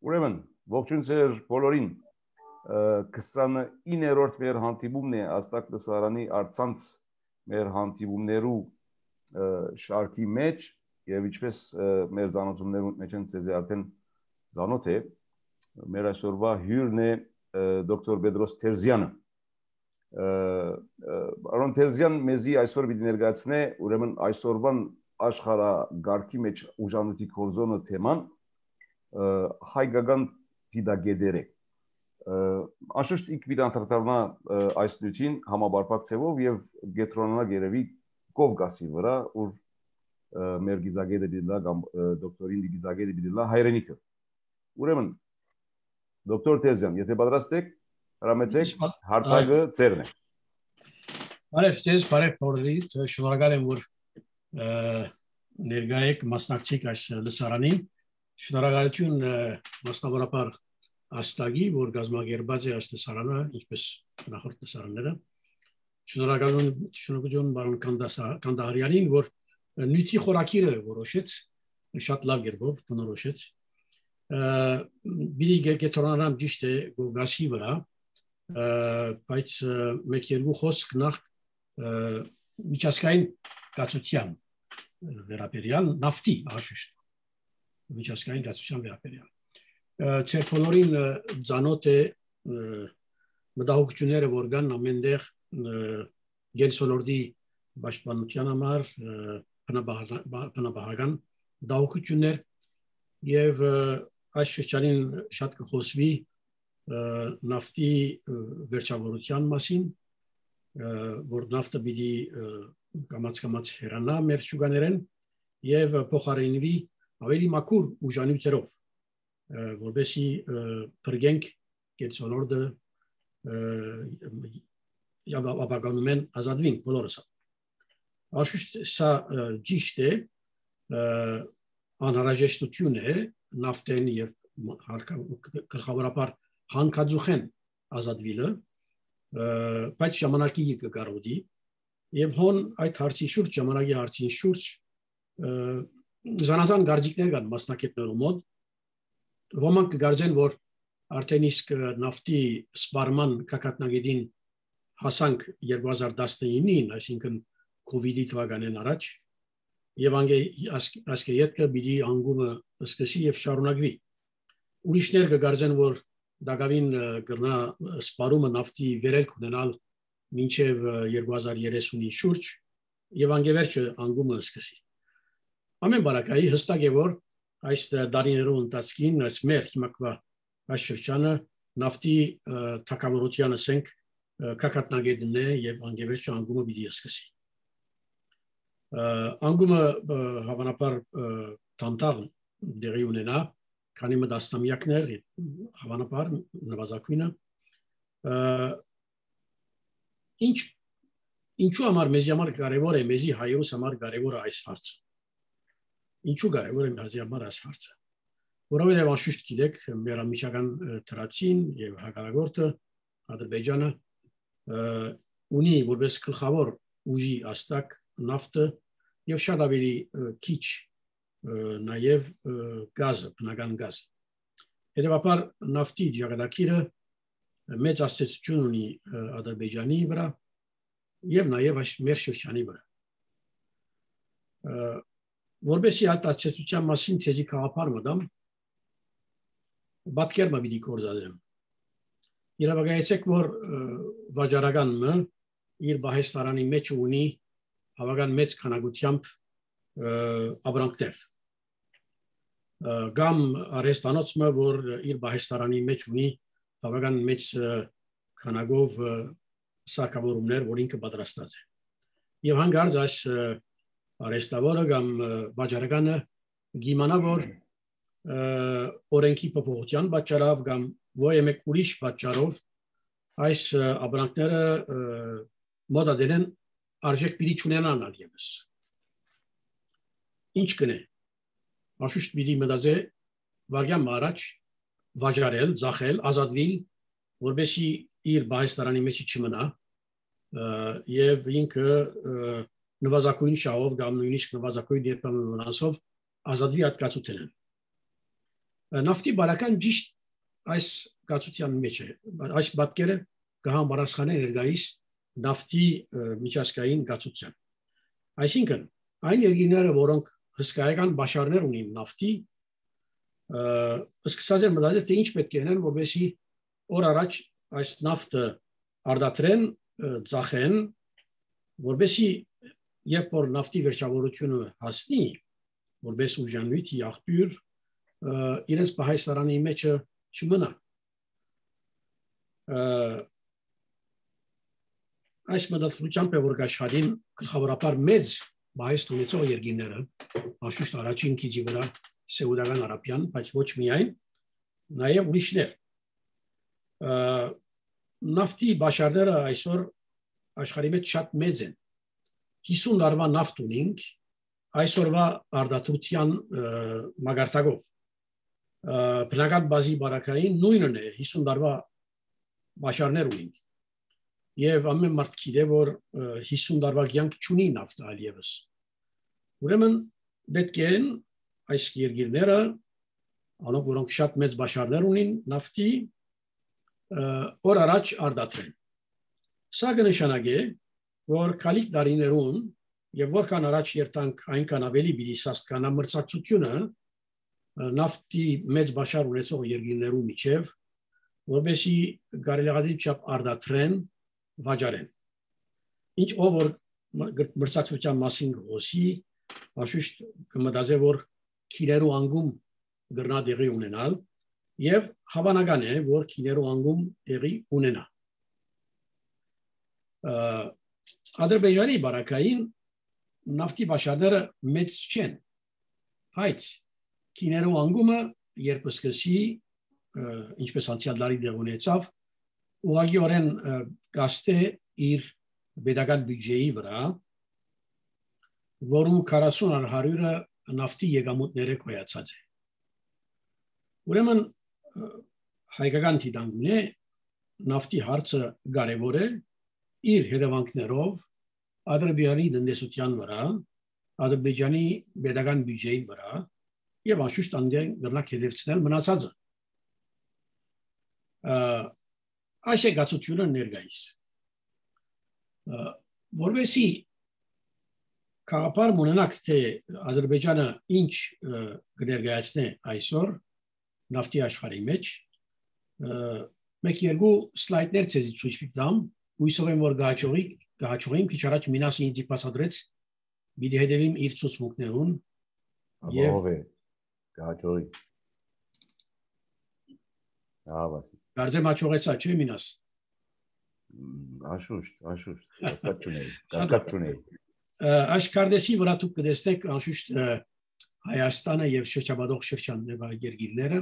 Ուրեմն, ողջույն ձեր բոլորին, 29-րդ մեր հանդիպումն է Աստակ լսարանի առցանց մեր հանդիպումներու շարքի մեջ եւ ինչպես մեր զանոթումներու մեջ են ցեզի արդեն զանոթ է, մեր այսօրվա հյուրն է դոկտոր Պետրոս Թերզյանը։ Արոն Թերզյան մեզի այսօր պիտի ներկայացնե ուրեմն այսօրվան աշխարհագարքի մեջ ուժանոթի կորզոնը թեման հայկական դիդագեդերը Անշուշտ իք պիտի անդրադառնա այս նյութին համաբարփակ ձևով եւ գետրոնանա երևի Կովկասի վրա, որ մեր գիզագետը դիլա կամ դոկտորին գիզագետը դիլա հայրենիքը։ Ուրեմն դոկտոր Թերզյան, եթե պատրաստ եք, հրամեցեք հարթակը ձերն է։ Բարև ձեզ, բարև բոլորիդ, շնորհակալ եմ, որ ներկա եք մասնակցեք այս լսարանին։ Շնորհակալություն մասնավորապես Աստագի, որ գազմագերբած է այս լսարանը, ինչպես նախորդ լսարանները։ Շնորհակալություն բարոն Կանդահարյանին, որ նյութի խորակիրը որոշեց, շատ լավ գերբով բնորոշեց։ Բիլի գետորանամ ճիշտ է Կովկասի վրա, բայց մեկ-երկու խոսք նախ միջազգային կացության վերաբերյալ նավթի անշուշտ միջազգային կացության վերաբերյալ Ձեր բոլորին ծանոթ է մտահոգությունները, որ կան ամենտեղ գենսոլորտի պաշտպանության համար, բնապահական մտահոգություններ եւ այս շրջանին շատ կխոսվի նավթի վերջավորության մասին, որ նավթը պիտի կամաց հեռանա մեր շուկաներեն եւ փոխարինվի ավելի մաքուր ուժանյութերով, որովհետեւ բրգենք գենսոլորտը եւ ապագանումեն ազատվին բոլորս։ Անշուշտ սա ճիշտ է, անհրաժեշտություն է նավթեն եւ գլխավորապես հանքաձուխեն ազատվելը, բայց ժամանակի կգարոդի եւ հոն այդ հարցի շուրջ ժամանակի հարցի շուրջ զանազան գարժիկներ կան մասնակիցներու մոտ, ոմանք կգարձեն, որ արդեն իսկ նավթի սպառման կակատնագետին հասանք 2019-ին, այսինքն COVID-ի թվականին առաջ, եւ ասկե յետքը պիտի անգումը սկսի եւ շարունակվի։ Ուրիշներ կգարձեն, որ դակավին կրնա սպառումը նավթի վերելք ունենալ մինչև 2030-ի շուրջ եւ անգևերջը անգումը սկսի։ Ամեն բարակայի հստակ է, որ այս դարիներու ընթացքին այս մեր հիմակվա այս շրջանը նավթի թակավորության ասենք կակատնագետն է եւ անգևերջը անգումը պիտի սկսի։ Անգումը հավանաբար տանտաղ դերի ունենա, քանի մտաստամյակներ հավանաբար նվազագույնը ինչու համար մեզ համար կարևոր է, մեզի հայրուս համար կարևոր է այս հարցը։ Ինչու կարևոր է մեզ համար այս հարցը։ Որովհետև անշուշտ գիտեք, մեր ամիջական թրացին եւ հակառակորդը Ադրբեջանը ունի որպես գլխավոր ուժի աստակ նավթը եւ շատ ավելի քիչ նաեւ գազը, բնական գազ։ Հետևաբար նավթի ջրագայթակիրը մեծ ազդեցություն ունի Ադրբեջանի վրա եւ նաեւ այս մեր շրջանի վրա։ Որբեսի այդ ազդեցության մասին ցեզի քաղաքար մտամ, պատկերը պիտի կորզադրեմ։ Երևակայեցեք, որ վաճառականը իր բահեստարանի մեջ ունի հավական մեծ քանակությամբ ապրանքներ։ Կամ արհեստանոցը, որ իր բահեստարանի մեջ ունի հավական մեծ քանակով սարքավորումներ, որ ինքը պատրաստած է։ Եվ հանգարց այս արհեստավորը կամ վաճառականը գիմանա, որ օրենքի փոփոխության պատճառով կամ ոյեմեկ ուրիշ պատճառով այս ապրանքները մոդադեն արժեք պիտի չունենան այլևս։ Ինչ կնե։ Անշուշտ պիտի մտածե վարյամ առաջ վաճառել, ծախել, ազատվել, որովհետեւ իր բահեստարանի մեջ չմնա եւ ինքը նվազագույն շահով կամ նույնիսկ նվազագույն երբեմն վնասով ազատվի ատկացութենեն։ Նավթի բարական ճիշտ այս գացության մեջ է։ Այս պատկերը կհամարաշխանե ներկայիս նավթի միջազգային գացության։ Այսինքն, այն երկրները, որոնք հսկայական բաշարներ ունին նավթի, սկսած են մտածել, թե ինչ պետք է անեն, որպեսզի օր առաջ այս նավթը արդատրեն, ծախեն, որպեսզի երբ որ նավթի վերջավորությունը հասնի, որպես ուժանույթի աղբյուր, իրենց պահեստարանի մեջը չմնա։ Այս մտածողությամբ է, որ աշխատին գլխավորապես մեծ պահեստ ունեցող երկրները, անշուշտ առաջին քիչի վրա Սաուդական Արաբիան, բայց ոչ միայն, նաև ուրիշներ։ Նավթի բաշարները այսօր աշխարհի մեջ շատ մեծ են։ 50 տարվա նավթ ունենք, այսօրվա արդարության մագարտակով։ Բնական բազի բարակային նույնն է, 50 տարվա բաշարներ ունենք։ Եվ ամեն մարդ գիտե, որ 50 տարվա կյանք չունի նավթը այլևս։ Ուրեմն պետք է այս երկրները, անոնք որոնք շատ մեծ բաշարներ ունին նավթի, օր առաջ արդատրեն։ Սա կնշանակե, որ քալիք տարիներուն եւ որքան առաջ երթանք այնքան ավելի պիտի սաստկանա մրցակցությունը նավթի մեծ բաշար ունեցող երկրներու միջև, որովհետեւ կարելի չափ արդատրեն վաճառեն։ Ինչ ով որ մրցակցության մասին խոսի, անշուշտ կմտածի, որ քիներու անգում գրնա դեղի ունենալ եւ հավանական է, որ քիներու անգում դեղի ունենա։ Ադրբեջանի բարակային նավթի բաշարները մեծ չեն, բայց քիներու անգումը երբ սկսի, ինչպես անցյալ տարի դեղ ունեցավ, ուղղակիորեն գաստե իր պետական բյուջեի վրա, որում 40-100-ը նավթի եկամուտները կոյացած է։ Ուրեմն հայկական դիտանկյուն է նավթի հարցը կարևոր է իր հետևանքներով Ադրբեջանի տնտեսության վրա, Ադրբեջանի պետական բյուջեի վրա եւ անշուշտ անդեն գրնակ հետևցնել մնացածը։ Այս է գացությունը ներկայիս։ Որովհետեւ Կապար մունենակ թե Ադրբեջանը ինչ կներկայացնե այսօր նավթի աշխարհի մեջ, մեկ-երկու սլայդներ ցեզի ցույց տամ, հույսով եմ որ գահաճողին քիչ առաջ մինասի ինձ պասադրեց, պիտի հետևիմ իր ցուցմունքներուն եւ գահաճողի։ Ավասի։ Կարծեմ հաջողեցա, չէ՞ մինաս։ Անշուշտ, կասկած չունեի։ Այս կարդեսի վրա դուք կտեսնեք անշուշտ Հայաստանը եւ շրջապատող շրջաններվա երկիրները։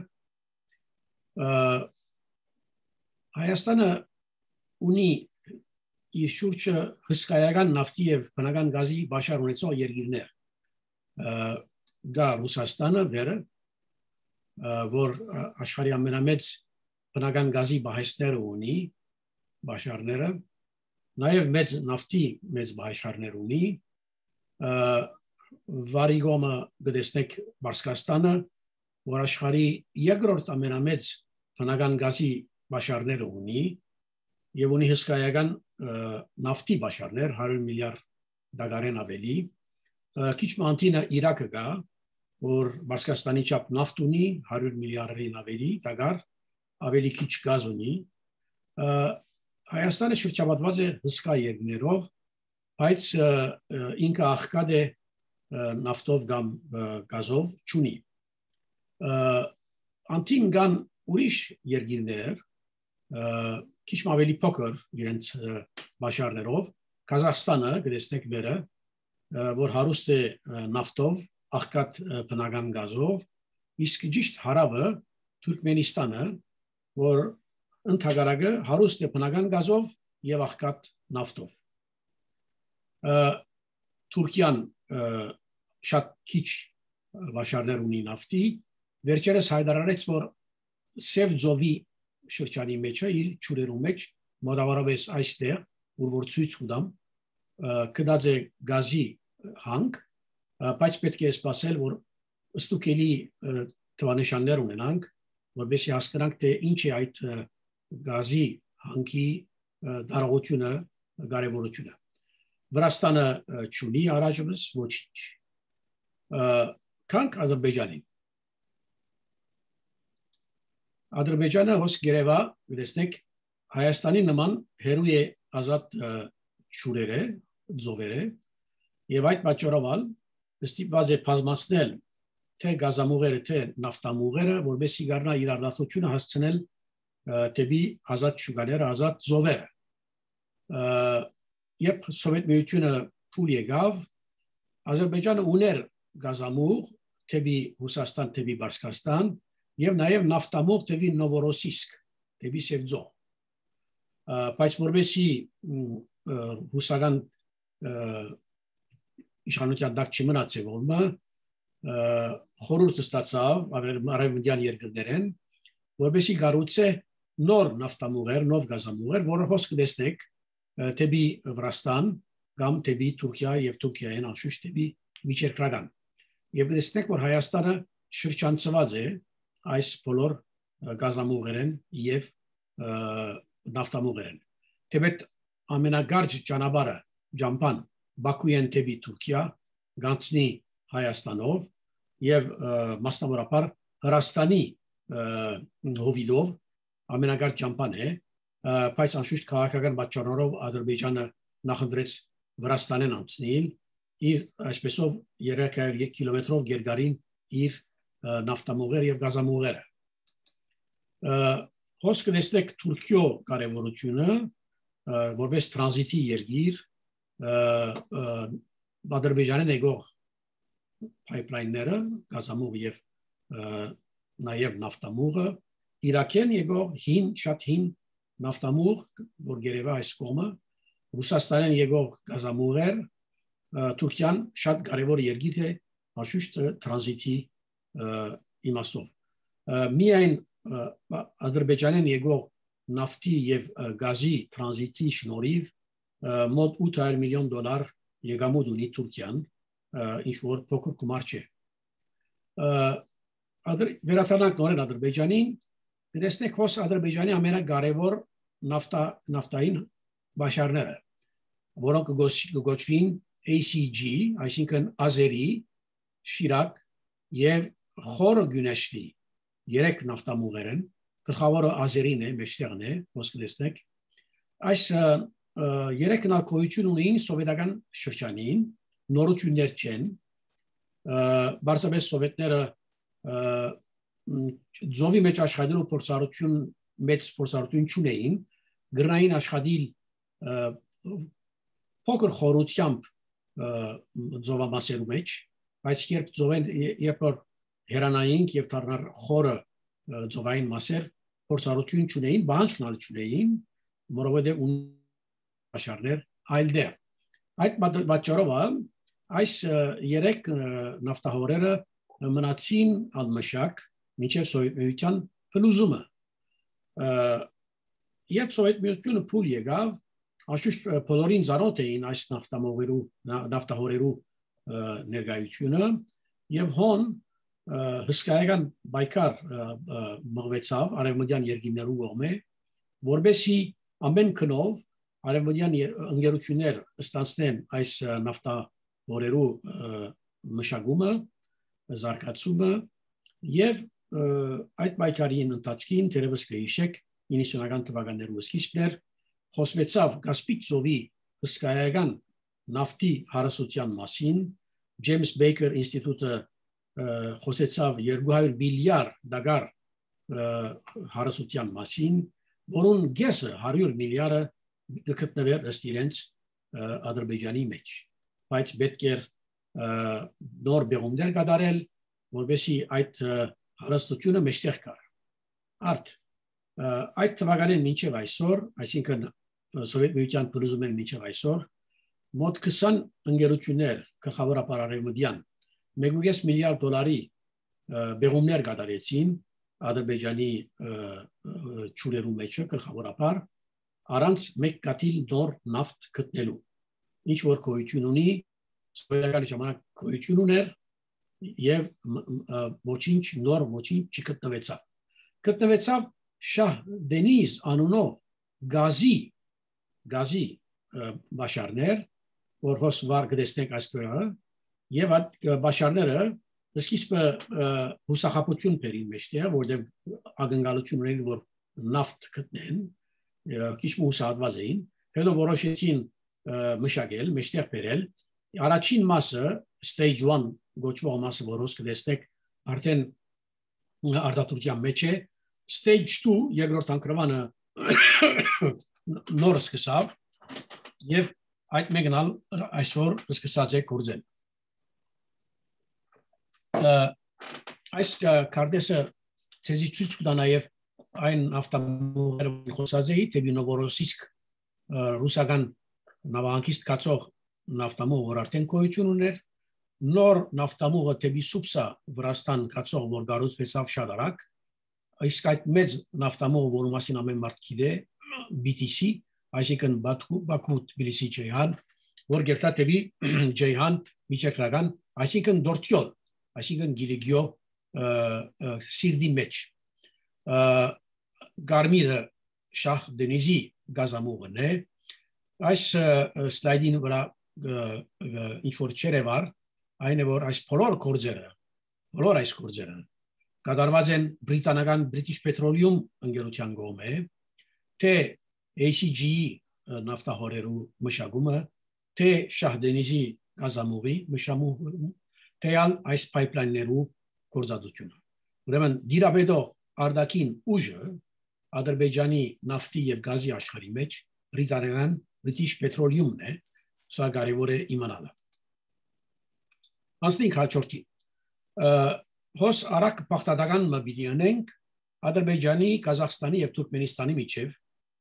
Հայաստանը ունի իր շուրջը հսկայական նավթի եւ բնական գազի բաշար ունեցող երկիրներ։ Դա Ռուսաստանը վերը, որ աշխարհի ամենամեծ բնական գազի բահեստները ունի, բաշարները, նաև մեծ նավթի մեծ բաշարներ ունի, վարիգոմը գտեսնեք Բարսկաստանը, որ աշխարհի երկրորդ ամենամեծ բնական գազի բաշարները ունի եւ ունի հսկայական նավթի բաշարներ 100 միլիարդ դոլարեն ավելի, քիչ մանտինը Իրաքը գա, որ Բարսկաստանի չափ նավթ ունի 100 միլիարդին ավելի դոլար, ավելի քիչ գազ ունի։ Հայաստանը շրջապատված է հսկա երկրներով, բայց ինքը աղքատ է նավթով կամ գազով չունի։ Անտին կան ուրիշ երկիրներ, քիչ ավելի փոքր իրենց բաշարներով, Կազախստանը գտեսնեք վերը, որ հարուստ է նավթով, աղքատ բնական գազով, իսկ ճիշտ հարավը Թուրքմենստանը, որ ընդհանրակը հարուստ է բնական գազով եւ աղքատ նավթով։ Թուրքիան շատ քիչ բաշարներ ունի նավթի, վերջերս հայտարարեց, որ Սև ծովի շրջանի մեջ է իր ճուրերու մեջ, մոտավորապես այստեղ, որ ցույց կտամ, կդած է գազի հանք, բայց պետք է սպասել, որ ստուկելի թվանշաններ ունենանք, որովհետեւ հասկանանք թե ինչ է այդ գազի հանքի դարողությունը, կարևորությունը։ Վրաստանը չունի առայժմս ոչինչ։ Կանք Ադրբեջանին։ Ադրբեջանը հոս գերեվա, տեսնեք, Հայաստանի նման հերու է ազատ ճուրերը, ձողերը, եւ այդ պատճառով ստիպված է բազմացնել թե գազամուղերը, թե նավթամուղերը, որովհետեւ գարնա իր արդյունքը հասցնել դեպի ազատ շուկաները, ազատ ձողերը։ Երբ Սովետ միությունը փուլ եկավ, Ադրբեջանը ուներ գազամուղ դեպի Ռուսաստան, դեպի Բարսկաստան եւ նաեւ նավթամուղ դեպի Նովորոսիսկ, դեպի Սևձո։ Բայց որովհետեւ ռուսական իշխանության դակ չմնացավ ոնը խորհուրդ ստացավ արևմտյան երկրներեն, որովհետեւ գառուցե նոր նավթամուղեր, նոր գազամուղեր, որը հոսք դեսնեք դեպի Վրաստան կամ դեպի Թուրքիա եւ Թուրքիային անշուշտ դեպի միջերկրական։ Եվ դեսնեք, որ Հայաստանը շրջանցված է այս բոլոր գազամուղերեն եւ նավթամուղերեն։ Թեպետ ամենագարճ ճանապարհը Ջամփան Բաքուեն դեպի Թուրքիա գանցնի Հայաստանով եւ մասնավորապես Հրաստանի հովիդով ամենագարճ ճամփան է, բայց անշուշտ քաղաքական պատճառներով Ադրբեջանը նախընտրեց Վրաստանեն անցնել իր այսպեսով 300 կիլոմետրով գերգարին իր նավթամուղեր եւ գազամուղերը։ Հոսքը դեսնեք Թուրքիո կարևորությունը որպես տրանզիտի երկիր Ադրբեջանին եկող pipeline-ները, գազամուղ եւ նաեւ նավթամուղը Իրաքեն եկող շատ հին նավթամուղ, որ գերեվա այս կողմը, Ռուսաստանեն եկող գազամուղեր, Թուրքիան շատ կարևոր երկիր է անշուշտ տրանզիտի իմաստով։ Միայն Ադրբեջանեն եկող նավթի եւ գազի տրանզիտի շնորհիվ մոտ $800 միլիոն եկամուտ ունի Թուրքիան, ինչ որ փոքր գումար չէ։ Վերադառնանք նորեն Ադրբեջանին, տեսնեք հոս Ադրբեջանի ամենակարևոր նավթային բաշարները, որոնք կոչվին ACG, այսինքն Ազերի, Շիրակ եւ Խորը Գյունեշտի, երեք նավթամուղեր են, գլխավորը Ազերին է, մեջտեղն է, ոսկ տեսնեք։ Այս երեք նարկոյություն ունին սովետական շրջանին, նորություններ չեն, բարձրապես սովետները ձովի մեջ աշխատելու փորձառություն մեծ փորձառություն չունեին, գրնային աշխատիլ փոքր խորությամբ ձովամասերու մեջ, բայց երբ հերանայինք եւ դառնար խորը ձովային մասեր փորձառություն չունեին, բանջկնալ չունեին, որովհետեւ աշարներ այլ դեր։ Այդ պատճառով այս երեք նավթահորերը մնացին անմշակ մինչև Սովետ միության փլուզումը։ Երբ Սովետ միությունը փուլ եկավ, անշուշտ բոլորին ծանոթ էին այս նավթահորերու ներկայությունը եւ հոն հսկայական բայկար մղվեցավ արևմտյան երկրներու կողմէ, որբեսի ամեն քնով արևմտյան ընկերություններ ստանցնեն այս նավթահորերու մշակումը, զարգացումը եւ այդ բայկարի ընթացքին դերևս կհիշեք 90-ական թվականներու սկիզբներ խոսվեցավ Կասպիկ ծովի հսկայական նավթի հարստության մասին, Ջեյմս Բեյքեր ինստիտուտը խոսեցավ 200 միլիարդ դոլար հարստության մասին, որոնց գեսը 100 միլիարդը գտնվեր ըստ իրենց Ադրբեջանի մեջ, բայց պետք էր նոր բեղումներ կատարել, որովհետեւ այդ հարստությունը մեջտեղ կար։ Այդ թվականին մինչև այսօր, այսինքն Սովետ միության փլուզումից մինչև այսօր, մոտ 20 ընկերություններ գլխավորապես արևմտյան $1.5 միլիարդ բեղումներ կատարեցին Ադրբեջանի ճուրերու մեջ գլխավորապես առանց մեկ կաթիլ նոր նավթ գտնելու։ Ինչ որ գոյություն ունի, սովետական ժամանակ գոյություն ուներ, եւ ոչինչ նոր ոչինչ չգտնվեցավ։ Գտնվեցավ Շահ Դենիզ անունով գազի բաշարներ, որ հոսվար գտեսնենք այստեղ, եւ այդ բաշարները սկիզբը հուսախապություն բերին մեջտեղ, որտեղ ակնկալություն ունեն, որ նավթ գտնեն, քիչ հուսահատված էին, հետո որոշեցին մշակել, մեջտեղ բերել։ Առաջին մասը stage 1 գոչվող մասը, որ հոս կտեսնեք, արդեն արտադրության մեջ է, stage 2 երկրորդ անկրվանը նոր սկսավ եւ այդ մեկնալ այսօր սկսած է գործել։ Այս կարդեսը ցեզի ցույց կտա նաեւ այն ավտոմոբիլը խոսած է դեպի Նովորոսիսկ ռուսական նավահանգիստ կացող նավտամուղ, որ արդեն գոյություն ուներ, նոր նավտամուղը դեպի Սուպսա Վրաստան կացող, որ գառուցվեցավ շատ արագ, իսկ այդ մեծ նավտամուղը, որի մասին ամեն մարդ գիտե, BTC, այսինքն Բաքու Թբիլիսի Ջեյհան, որ գերտա դեպի Ջեյհան միջերկրական, այսինքն Դորթյոլ, այսինքն Գիլիգիո սիրդի մեջ։ Գարմիրը Շահ Դենիզի գազամուղն է։ Այս սլայդին վրա ինչ որ չերևար, այն է որ այս բոլոր այս գործերը կատարված են բրիտանական British Petroleum ընկերության կողմէ, թե ACG նավթահորերու մշակումը, թե Շահ Դենիզի գազամուղի մշակումը, թե այս pipeline-ներու գործածությունը։ Ուրեմն դիրաբեդող արդակին ուժը Ադրբեջանի նավթի եւ գազի աշխարհի մեջ բրիտանական British Petroleum-ն է, սա կարևոր է իմանալը։ Անցնենք հաջորդին։ Հոս արագ բախտադական մբիդի անենք Ադրբեջանի, Կազախստանի եւ Թուրքմենստանի միջև,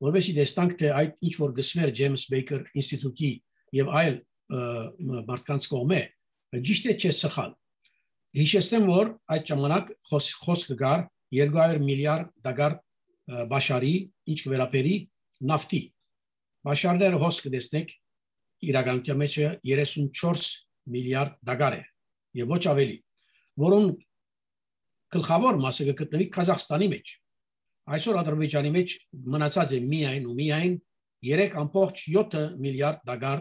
որովհետեւ դեստանք թե այդ ինչ որ գսվեր Ջեյմս Բեյքեր ինստիտուտի եւ այլ մարդկանց կողմէ, ճիշտ է չէ սխալ։ Հիշեցնեմ, որ այդ ժամանակ խոսքը գար 200 միլիարդ դագար բաշարի, ինչ կվերապերի նավթի։ Բաշարները հոս կտեսնեք իրականության մեջ 34 միլիարդ դագար է եւ ոչ ավելի, որոնց գլխավոր մասը գտնվի Կազախստանի մեջ։ Այսօր Ադրբեջանի մեջ մնացած է միայն 3.7 միլիարդ դագար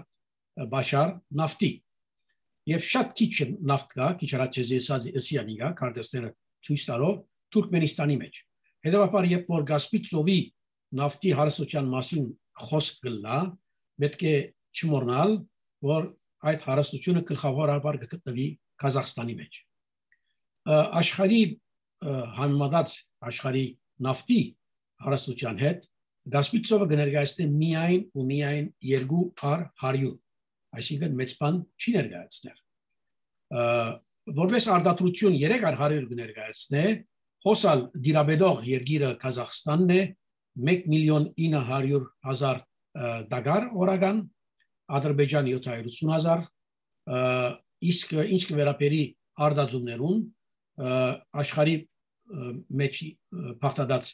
բաշար նավթի։ Եվ շատ քիչ նավթ կա, քիչ հրաչեզեսիանիգա, քարտեզները ցույց տալով Թուրքմենստանի մեջ։ Հետևաբար, երբ որ Կասպից ծովի նավթի հարստության մասին խոսք գլա, պետք է չմոռանալ, որ այդ հարստությունը գլխավորաբար գտնվի Կազախստանի մեջ։ Աշխարհի համեմատած աշխարհի նավթի հարստության հետ Կասպից ծովը կներկայացնի միայն 2/100, այսինքն մեծ բան չի ներկայացներ։ Որպես արտադրություն 3/100 կներկայացնե, հոսալ դիրաբեդող երկիրը Կազախստանն է 1.900.000 դագար օրական, Ադրբեջան 780,000, իսկ ինչ կվերապերի արտադրություններուն աշխարհի մեջ բախտադած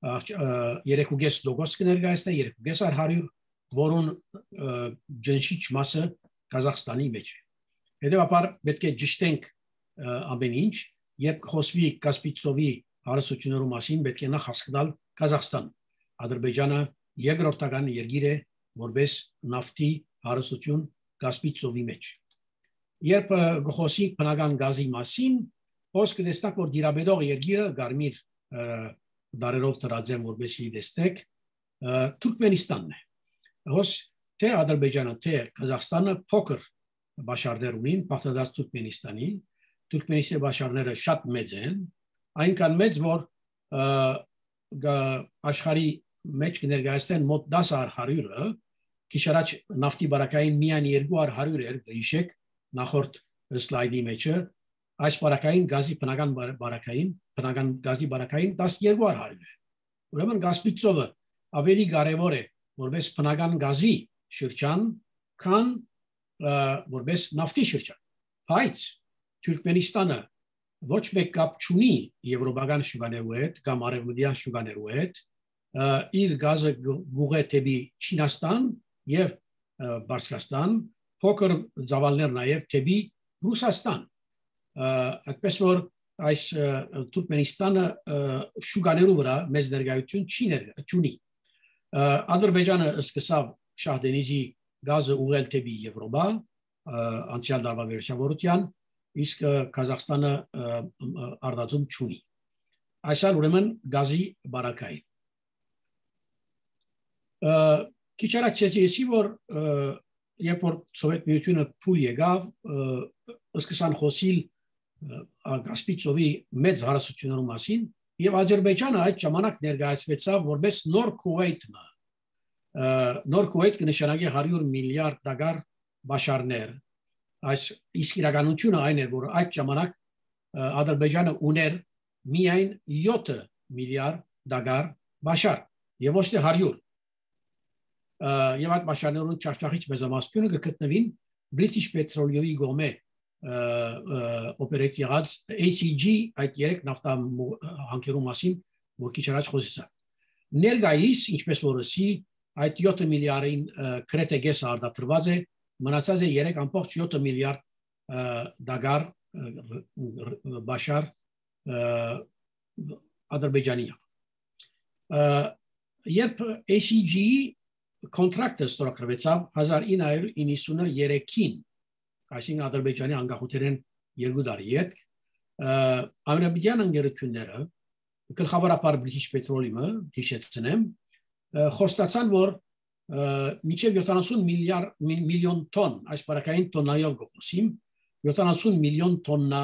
3.5% կներկայացնե 2.100, որոնց ջնշիչ մասը Կազախստանի մեջ է։ Հետևաբար պետք է ճշտենք ամեն ինչ, երբ խոսվի Կասպից ծովի հարստությունների մասին, պետք է նախ հասկանալ Կազախստան։ Ադրբեջանը երկրորդական երկիր է որպես նավթի հարստություն Կասպից ծովի մեջ։ Երբ խոսի բնական գազի մասին, խոսքը դեստակ որ դիրաբեդող երկիրը Գարմիր դարերով դրած որպեսի դեստեք Թուրքմենստանն է։ Հոս թե Ադրբեջանը, թե Կազախստանը փոքր բաշարներ ունին, բախտադարձ Թուրքմենստանի, Թուրքմենստանի բաշարները շատ մեծ են, այնքան մեծ, որ աշխարհի մեջ կներկայացնեն մոտ 10.100-ը, քիչ առաջ նավթի բարակային միայն 2.100 էր, հիշեք, նախորդ սլայդի մեջը, այս բարակային գազի բնական գազի բարակային 12.100 է։ Ուրեմն Կասպից ծովը ավելի կարևոր է որպես բնական գազի շրջան, քան որպես նավթի շրջան։ Բայց Թուրքմենստանը ոչ մեկ կապ չունի եվրոպական շուկաներու հետ կամ արևմտյան շուկաներու հետ, իր գազը գուղե դեպի Չինաստան եւ Բարձրաստան, փոքր ծավալներ նաեւ դեպի Ռուսաստան։ այդպես որ այս Թուրքմենստանը շուկաներու վրա մեծ ներկայություն չունի Ադրբեջանը սկսավ Շահդենիջի գազը ուղղել դեպի Եվրոպա անցյալ տարվա վերջավորության իսկ Կազախստանը արտադրում չունի այսալ ուրեմն գազի բարակային քիչ առաջ ասեցի որ երբ որ Սովետ միությունը փուլ եկավ սկսան խոսիլ Կասպիցովի մեծ հարստությունների մասին եւ Ադրբեջանը այդ ժամանակ ներկայացվեցավ որպես նոր Քուվեյթը նոր Քուվեյթ կնշանակի 100 միլիարդ դոլար բաշարներ այս իսկ իրականությունը այն է որ այդ ժամանակ Ադրբեջանը ուներ միայն 7 միլիարդ դոլար բաշար եւ ոչ թե 100 եւ այդ բաշարներուն ճաշճախիչ մեծամասնությունը կգտնվին British Petroleum-ի գոմե օպերատիվ եղած ACG այդ երեք նավթա հանքերու մասին որ քիչ առաջ խոսեցա ներկայիս ինչպես որ ասի այդ 7 միլիարդին կրետեգես արտադրված է մնացած է 3.7 միլիարդ դոլար բաշար Ադրբեջանի երբ ACG կոնտրակտը ստորագրվեցավ 1993-ին այսինքն Ադրբեջանի անկախությունն 2 տարի հետ ամերիկյան ընկերությունները գլխավորապես British Petroleum-ը հիշեցնեմ խոստացան որ մինչև 70 միլիոն տոն այս բարակային տոննայով գոհսիմ 70 միլիոն տոննա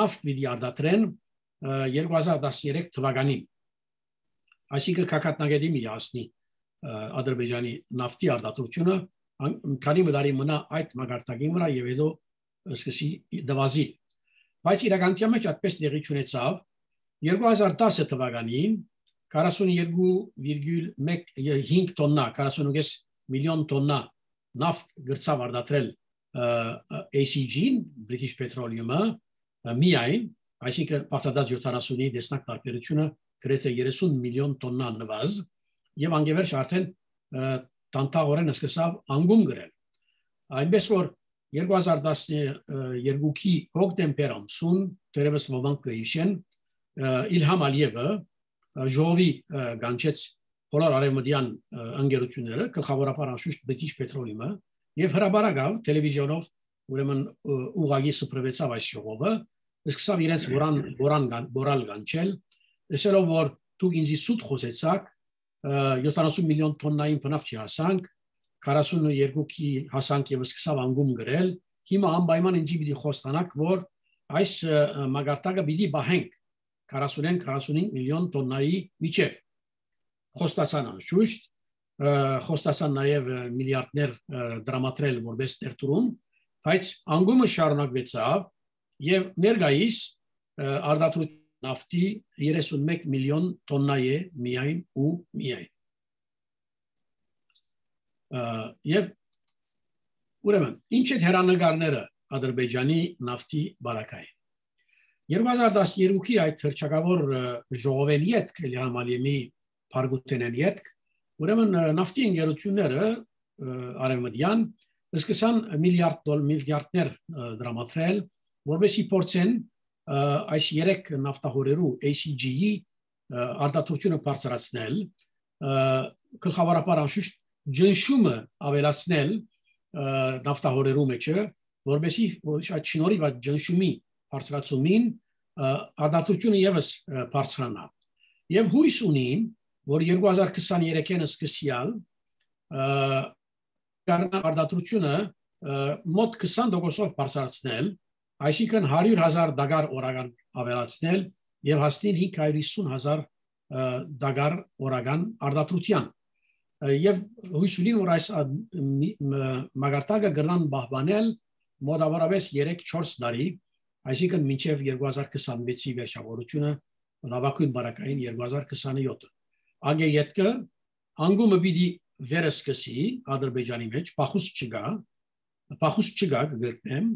նավթ պիտի արտադրեն 2013 թվականին այսինքն կակատնագետի միասնի Ադրբեջանի նավթի արտադրությունը քանի տարի մնա այդ մագարտակին վրա եւ հետո սկսի դվազի բայց իրականության մեջ այդպես դեղի չունեցավ 2010 թվականին 42.5 տոննա 48 միլիոն տոննա նավթ գրծավ արտադրել ACG-ին British Petroleum-ը միայն այսինքն պատասխանած 70-ի դեսնակ տարբերությունը գրեթե 30 միլիոն տոննա նվազ եւ անգևերջ արդեն տանտաղորեն սկսավ անգում գրել այնպես որ 2012-ի հոկտեմբեր ամսուն դերևս ոմանք կհիշեն Իլհամ Ալիևը ժողովի գանչեց բոլոր արևմտյան ընկերությունները գլխավորապես անշուշտ British Petroleum-ը եւ հրաբարակավ տելևիզիոնով ուրեմն ուղղակի սփռվեցավ այս ժողովը սկսավ իրենց բորալ գանչել ասելով որ դուք ինձ սուտ խոսեցաք 70 միլիոն տոննային բնավ չհասանք 42-ի հասանք եւ սկսավ անգում գրել հիմա անպայման ինձ պիտի խոստանաք որ այս մագարտակը պիտի բահենք 40-45 միլիոն տոննայի միջև խոստացան անշուշտ խոստացան նաեւ միլիարդներ դրամատրել որպես ներդրում բայց անգումը շարունակվեցավ եւ ներկայիս արտադրություն նավթի 31 միլիոն տոննա է միայն ու միայն եւ ուրեմն ինչ է հերանեկարները Ադրբեջանի նավթի բարակային 2012-ի այդ հրճակավոր ժողովեն յետք Իլհամ Ալիևի Փարգուտենեն յետք ուրեմն նավթի ընկերությունները արևմտյան սկսան միլիարդներ դրամատրել որովհետեւ փորձեն այս երեք նավթահորերու ACG-ի արտադրությունը բարձրացնել գլխավորապես անշուշտ ջնշումը ավելացնել նավթահորերու մեջը որովհետեւ այդ շնորհիվ այդ ջնշումի բարձրացումին արտադրությունը եւս բարձրանա եւ հույս ունին որ 2023-ին սկսյալ արտադրությունը մոտ 20%-ով բարձրացնել այսինքն 100,000 դոլար օրական ավելացնել եւ հասնել 550,000 դոլար օրական արտադրության եւ հույս ունին որ այս մագարտակը կգնան բահբանել մոտավորապես 3-4 տարի այսինքն մինչեւ 2026-ի վերջավորությունը նավակույն բարակային 2027 անգե յետքը անգումը պիտի վերսկսի Ադրբեջանի մեջ փախուս չգա գտնեմ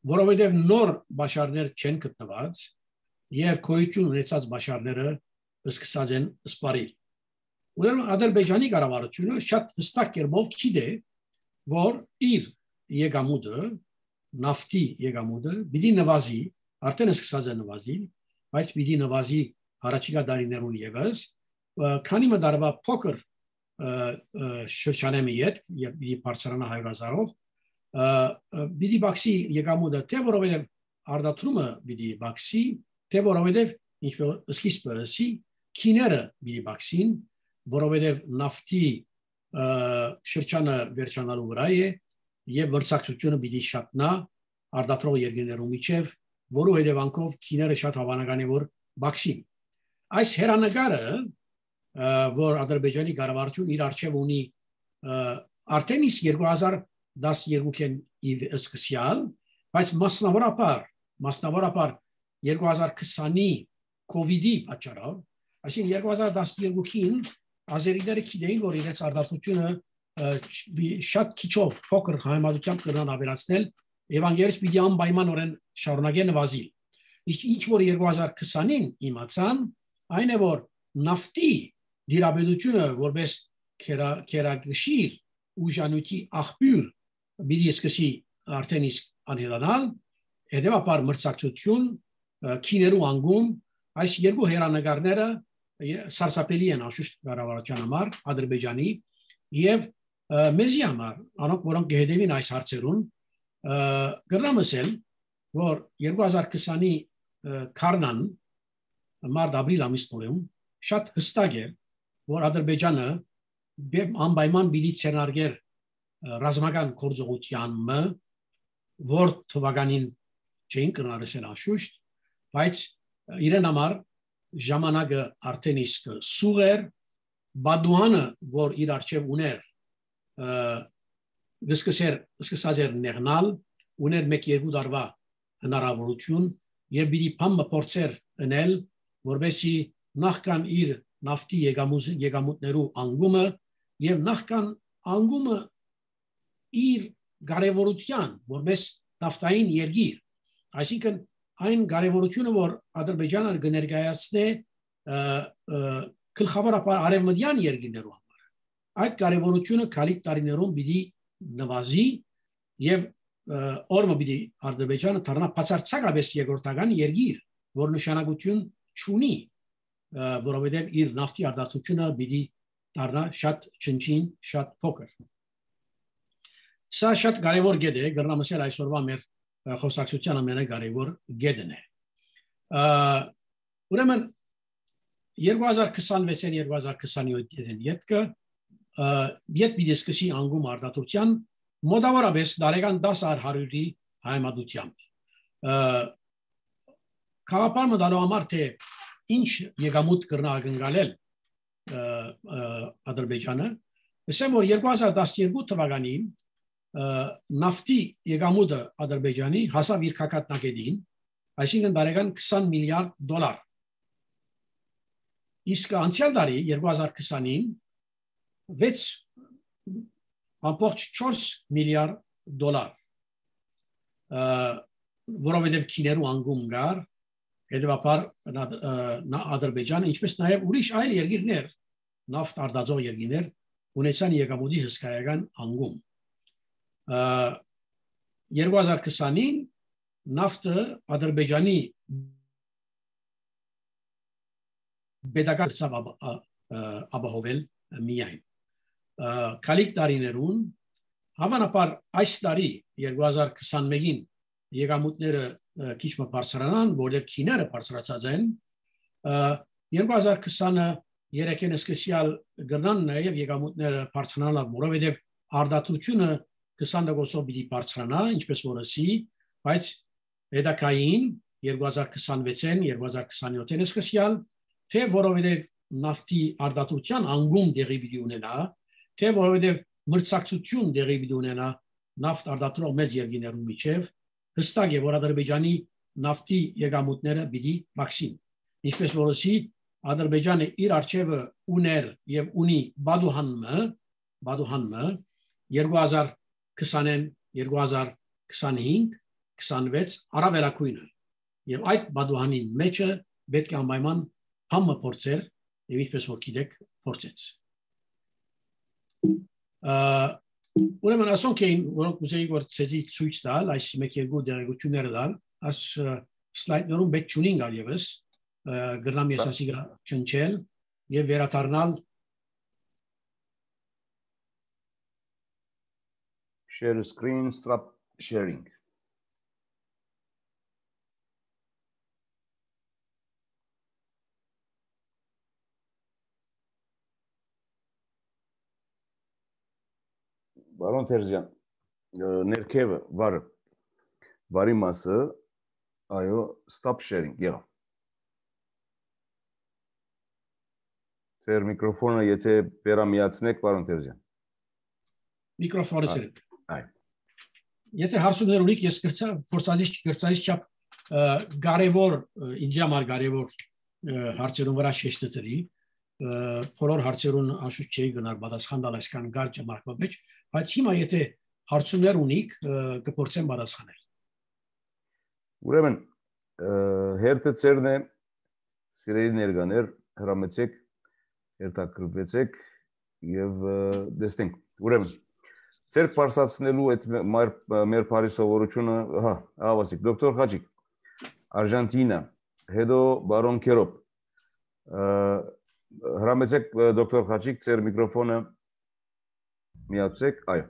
որովհետև նոր բաշարներ չեն գտնված եւ քոյություն ունեցած բաշարները սկսած են սպարիլ ուրեմն Ադրբեջանի կառավարությունը շատ հստակ կերպով գիտե որ իր եկամուտը նավթի եկամուտը պիտի նվազի արդեն սկսած է նվազի, բայց պիտի նվազի առաջիկա դարիներուն ևս, քանի մդարվա փոքր շրջանեմի հետ, եւ պիտի բարձրանա 100,000-ով, պիտի բացի եկամուտը, թե որովհետեւ արդատրումը պիտի բացի, թե որովհետեւ ինչպես սկիզբը քիները պիտի բացին, որովհետեւ նավթի շրջանը վերջանալու վրա է եւ վրցակցությունը պիտի շատնա արդատրող երկրներու միջև, որու հետևանքով քիները շատ հավանական է որ բացին։ Այս հերանեկարը, որ Ադրբեջանի կառավարությունը իր արժեվ ունի արդեն իսկ 2012-ին սկսյալ, բայց մասնավորապես 2020-ի COVID-ի պատճառով, այսինքն 2012-ին ազերիները գիտեին, որ իրենց արդարությունը շատ քիչով փոքր համեմատությամբ կրնան ավելացնել եւ անգերից պիտի անպայմանորեն շարունակեն նվազել։ Ինչ որ 2020-ին իմացան, այն է որ նավթի դիրաբեդությունը որպես քերագշիր ուժանույթի աղբյուր պիտի սկսի արդեն իսկ անհետանալ, հետեւաբար մրցակցություն, քիներու անգում, այս երկու հերանեկարները սարսափելի են անշուշտ կառավարության համար, Ադրբեջանի եւ մեզի համար, անոնք որոնք գեհդեվին այս հարցերուն, գրնամսել, որ 2020-ի քարնան մարտ-ապրիլ ամիսներում շատ հստակ է, որ Ադրբեջանը անպայման պիտի ցերնարգեր ռազմական գործողությանը, որ թվականին չէին կրնարեցել անշուշտ, բայց իրեն համար ժամանակը արդեն իսկ սուղ էր, Բադուանը, որ իր արժև ուներ, սկսած էր նեղնալ, ուներ 1-2 տարվա հնարավորություն եւ պիտի փամը փորձեր ընել, որբեսի նախքան իր նավթի եկամուտներու անգումը եւ նախքան անգումը իր կարևորության, որպես նավթային երկիր, այսինքն այն կարևորությունը, որ Ադրբեջանը կներկայացնե գլխավորապես արևմտյան երկրներու համար, այդ կարևորությունը քալիք տարիներում պիտի նվազի եւ օրը պիտի Ադրբեջանը դառնա բացարձակապես երկրորդական երկիր, որ նշանակություն չունի, որովհետեւ իր նավթի արտադրությունը պիտի դառնա շատ չնչին, շատ փոքր։ Սա շատ կարևոր գետ է, գրնամսել այսօրվա մեր խոսակցության ամենակարևոր գետն է։ Ուրեմն 2026-2027 ետքը ետ պիտի սկսի անգում արտադրության մոտավորապես դարեկան 10,100-ի հայմատությամբ։ Քաղաքապար մտալու համար թե ինչ եկամուտ կրնա ակնկալել Ադրբեջանը, ասեմ որ 2012 թվականին նավթի եկամուտը Ադրբեջանի հասավ իր կակատնագետին, այսինքն դարեկան $20 միլիարդ։ Իսկ անցյալ տարի 2020-ին 6.4 միլիարդ, որովհետև քիներու անգում գար, հետևաբար Ադրբեջանը, ինչպես նաև ուրիշ այլ երկիրներ, նավթ արտադրող երկիրներ ունեցան եկամուտի հսկայական անգում։ 2020-ին նավթը Ադրբեջանի պետական ապահովել միայն։ Քալիք տարիներուն հավանաբար այս տարի 2021-ին եկամուտները քիչ մը բարձրանան, որովհետև քիները բարձրացած են, 2023-ին սկսյալ գնան նաև եկամուտները բարձրանալ, որովհետև արտադրությունը 20%-ով պիտի բարձրանա, ինչպես որսի, բայց հետագային 2026-ին, 2027-ին սկսյալ, թե որովհետև նավթի արտադրության անգում դեղի պիտի ունենա, թե որովհետև մրցակցություն դեղի պիտի ունենա նավթ արտադրող մեծ երկրներու միջև, հստակ է, որ Ադրբեջանի նավթի եկամուտները պիտի բացին։ Ինչպես որսի Ադրբեջանը իր արժևը ուներ եւ ունի Բադուհանը 2020-ին, 2025, 26 առավելակույնը։ Եվ այդ Բադուհանի մեջը պետք է անպայման համը փորձեր եւ ինչպես որ գիտեք փորձեց։ Ուրեմն ասոնք էին, որոնք ուզեի որ ցեզի ցույց տալ, այս մեկ երկու դերակցությունները տալ, աս slide-ներում պետք չունին գալիևս գրնամ ես ասիգա չնչել եւ վերադառնալ share screen stop sharing Բարոն Թերզյան ներքևը վարի մասը այո stop sharing եղավ Ձեր միկրոֆոնը եթե վերամիացնեք պարոն Թերզյան Միկրոֆոնը սրեք այ Եթե հարցումներ ունիք ես գործածից չափ կարևոր ինձ համար կարևոր հարցերուն վրա շեշտադրի բոլոր հարցերուն աշուտ չի գնալ պատասխան տալ այսքան կարճ ժամանակվա մեջ բայց հիմա եթե հարցումներ ունիք կփորձեմ պատասխանել Ուրեմն հերթը ծերն է սիրելի ներկաներ հրամեցեք երթակրվեցեք եւ դեսնենք ուրեմն Ձեր պարսացնելու այդ մեր բարի սովորությունը հա ավասիկ դոկտոր Խաչիկ Արժանտինա հետո բարոն Քերոպ հրամեցեք դոկտոր Խաչիկ ձեր միկրոֆոնը միացեք այո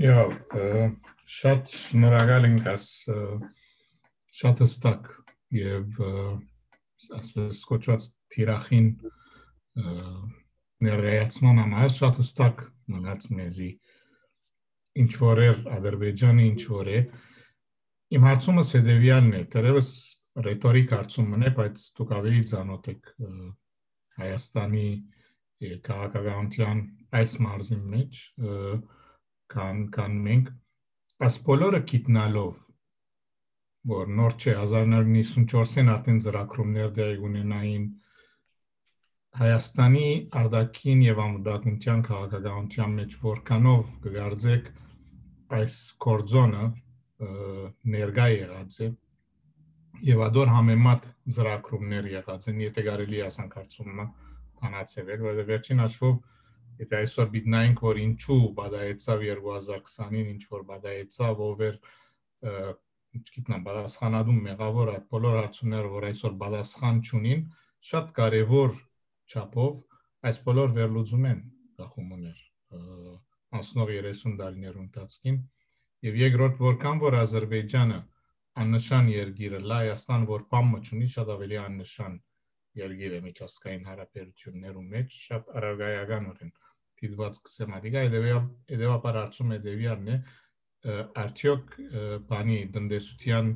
Եվ շատ շնորհակալ ենք շատ հստակ եւ ասես կոչված թիրախին ներկայացման համար շատ հստակ մնաց մեզի ինչ որ է Ադրբեջանը ինչ որ է իմ հարցումս հետեւյալն է դերևս ռետորիկ հարցումն է բայց դուք ավելի ծանոթ եք Հայաստանի քաղաքականության այս մարզի մեջ կան մենք այս բոլորը գիտնալով որ նոր չէ 1994-ին արդեն ծրագրումներ դեղի ունենային Հայաստանի արտաքին եւ անվտանգության քաղաքականության մեջ որքանով կգարձեք այս կորձոնը ներկա եղած է եւ ադոր համեմատ ծրագրումներ եղած են եթե կարելի ասանք հարցումն բանացել որը վերջին հաշվով եթե այսօր բիտնայինք որ ինչու բադայեցավ 2020-ին ինչ որ բադայեցավ over չգիտնամ բադասխանադու մեղավոր այդ բոլոր հարցումները որ այսօր բադասխան չունին շատ կարեւոր չափով այս բոլոր վերլուծում են գախումներ անցնող 30 տարիներու ընթացքին եւ երկրորդ որքան որ Ադրբեջանը աննշան երկիր է Հայաստան որ բամը չունի շատ ավելի աննշան երկիր է միջազգային հարաբերություններու մեջ շատ արագայականորեն դիտված կսեմատիկա հետեւաբար հարցում հետեւյալն է արդյոք բանի տնտեսության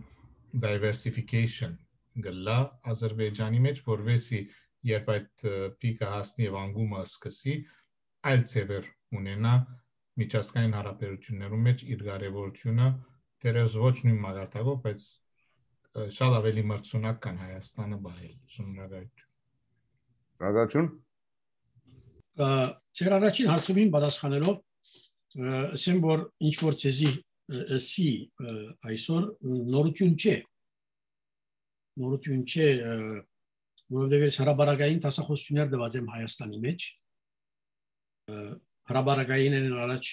diversification գլա Ադրբեջանի մեջ որովհետեւ երբ այդ պիկը հասնի եւ անգումը սկսի այլ ծևեր ունենա միջազգային հարաբերություններում մեջ իր կարևորությունը դերևս ոչ նույն մագարտակով բայց շատ ավելի մրցունակ կան Հայաստանը բայել շնորհակալություն Ձեր առաջին հարցումին պատասխանելով ասեմ որ ինչ որ ցեզի սի այսօր նորություն չէ որովհետև հրաբարակային տասախոսություններ դված եմ Հայաստանի մեջ հրաբարակային են առաջ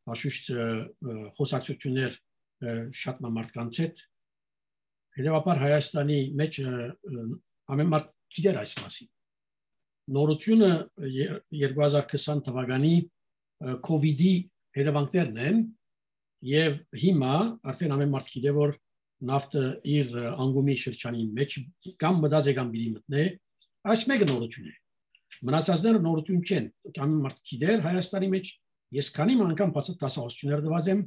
հաշուշտ խոսակցություններ շատ մարդկանց հետ հետևաբար Հայաստանի մեջ ամեն մարդ գիտեր այս մասին նորությունը 2020 թվականի COVID-ի հետևանքներն են եւ հիմա արդեն ամեն մարդ գիտե որ նավթը իր անգումի շրջանի մեջ կամ մտած է կամ բիդի մտնե այս մեկը նորություն է մնացածները նորություն չեն կամ մարդ գիտեր Հայաստանի մեջ ես քանի անգամ բացած տասախոսություններ դված եմ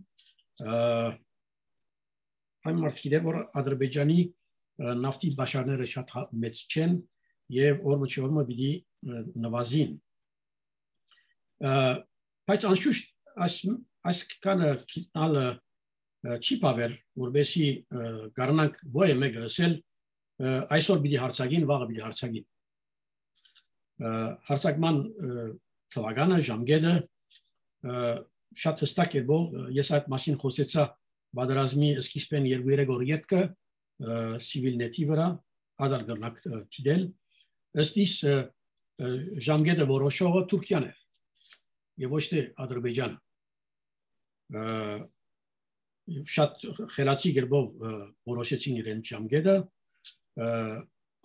այն մարդ գիտեր որ Ադրբեջանի նավթի բաշարները շատ մեծ չեն եւ օրմը պիտի նվազին բայց անշուշտ այս կանը գիտնալը չի բավեր որովհետեւ գառնանք ոյ մեկը ասել այսօր պիտի հարցակին վաղը պիտի հարցակին հարցակման թվականը ժամկետը շատ հստակ է որ ես այդ մասին խոսեցա բادرազմի սկիզբեն 2-3 օր յետքը civilnet-ի վրա ադար գրնակ դիդել ըստ իս ժամկետը որոշողը Թուրքիան է եւ ոչ թե Ադրբեջանը շատ խելացի գրբով որոշեցին իրեն ճամգեդը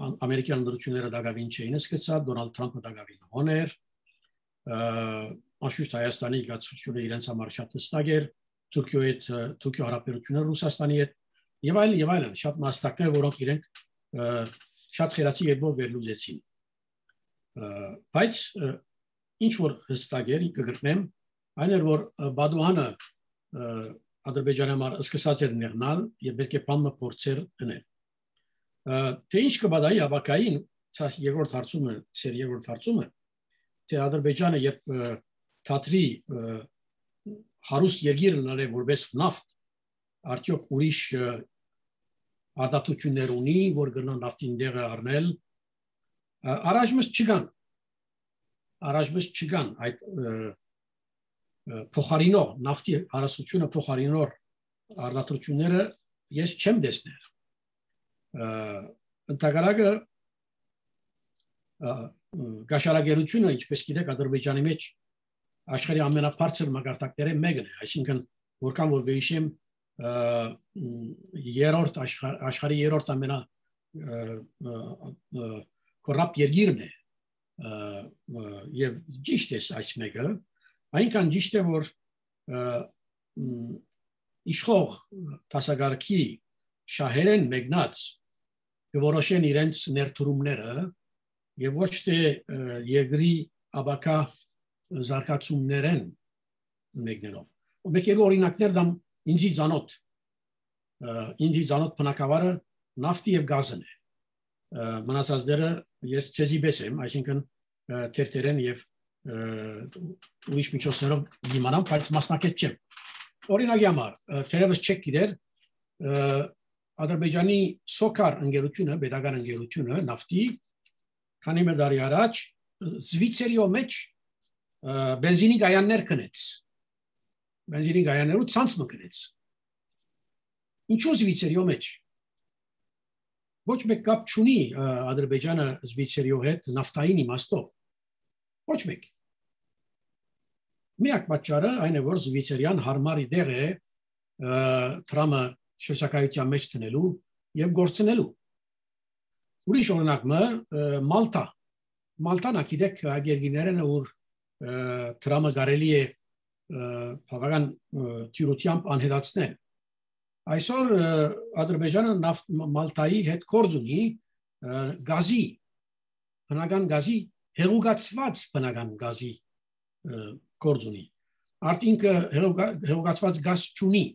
ամերիկյան դրությունները դակավին չէին սկսած Դոնալդ Թրամփը դակավին հոներ անշուշտ Հայաստանի գացությունը իրենց համար շատ հստակ էր Թուրքիո հարաբերությունները Ռուսաստանի հետ եւ այլն շատ մասնակներ որոնք իրենք շատ խելացի երբով վերլուծեցին բայց ինչ որ հստակ էր կգտնեմ այն էր որ Բադուհանը Ադրբեջանի համար սկսած էր ներնալ եւ պետք է բանը փորձեր դնել թե ինչ կբադայի ավակային երկրորդ հարցումը թե Ադրբեջանը երբ թատրի հարուստ երկիր լարե որպես նավթ արդյոք ուրիշ արտադրություններ ունի որ գնա նավթին դեղը առնել առաջմս չգան այդ փոխարինող նավթի հարստությունը փոխարինող արտադրությունները ես չեմ տեսնել ընդհանրակը գաշարագերությունը ինչպես գիտեք Ադրբեջանի մեջ աշխարհի ամենաբարձր մակարդակների մեկն է այսինքն որքան որ վեհիշեմ աշխարհի երրորդ ամենա կոռապտ երկիրն է եւ ճիշտ է այս մեկը այնքան ճիշտ է որ իշխող տասագարքի շահերեն մեկնած որոշեն իրենց ներդրումները եւ ոչ թե երկրի աբակա զարգացումներեն մեկներով մեկ օրինակներ դամ ինձի ցանոթ բնակավարը նավթի եւ գազն է մնացածները ես չեզիբես եմ այսինքն թերթերեն եւ ուրիշ միջոցներով դիմանամ բայց մասնակից չեմ օրինակի համար թերևս չեք գիտեր Ադրբեջանի Սոկար ընկերությունը պետական ընկերությունը նավթի քանի մի տարի առաջ Զվիցերիո մեջ բենզինի գայաններ կնեց բենզինի գայաներու ցանց մկնեց ինչու Զվիցերիո մեջ ոչ մեկ կապ չունի Ադրբեջանը Զվիցերիո հետ նավթային իմաստով ոչ մեկ միակ պատճառը այն է որ Զվիցերիան հարմար դեղ է Թրամը շրջակայության մեջ տնելու եւ գործնելու ուրիշ օրինակը Մալտան գիտեք երկիներն որ Թրամը կարելի է բավական թյուրությամբ անհետացնել այսօր Ադրբեջանը Մալտայի հետ գործ ունի գազի բնական գազի հեղուկացված բնական գազի գործ ունի արդյունքը հեղուկացված գազ չունի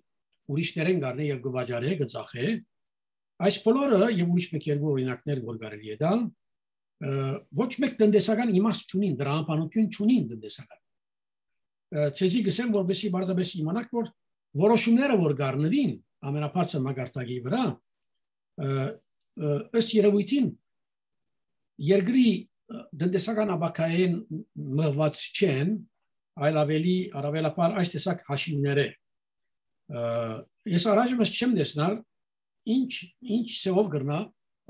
ուրիշներեն գարնե եւ գվաճարե գծախե այս բոլորը եւ ուրիշ մեկ երկու օրինակներ որ կարելի է տալ ոչ մեկ տնտեսական իմաստ չունին դրա անպանություն չունին տնտեսական ցեզի գսեմ որովհետեւ բարձրապես իմանաք որ որոշումները որ գարնվին ամենաբարձր մակարդակի վրա ըստ երևույթին երկրի տնտեսական աբակային մղված չեն այլ առավելապար այս տեսակ հաշիվներ է ես առաջումս չեմ տեսնալ ինչ սեով գրնա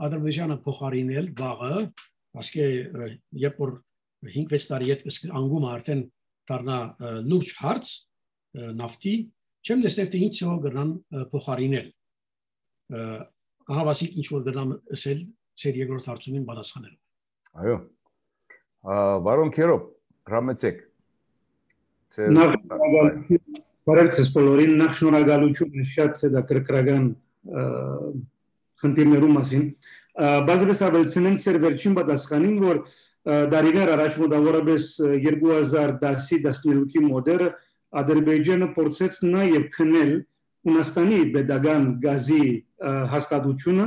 Ադրբեջանը փոխարինել վաղը ասկե երբ որ 5-6 տարի հետ անգում արդեն դառնա լուրջ հարց նավթի չեմ տեսնել թե ինչ սեով գրնան փոխարինել ահավասիկ ինչ որ գրնամ ասել ծեր երկրորդ հարցումին պատասխանելով այո Վարոն Քերոբ հրամեցեք Բարևձեզ բոլորին, նախ շնորհակալություն շատ հետաքրքրական խնդիրներու մասին։ Բազմիցս ավելցնենք ծեր վերջին պատասխանին, որ դարիներ առաջ մոտավորապես 2010-13-ի մոդերը Ադրբեջանը փորձեց նաև քնել Հունաստանի պետական գազի հաստատությունը,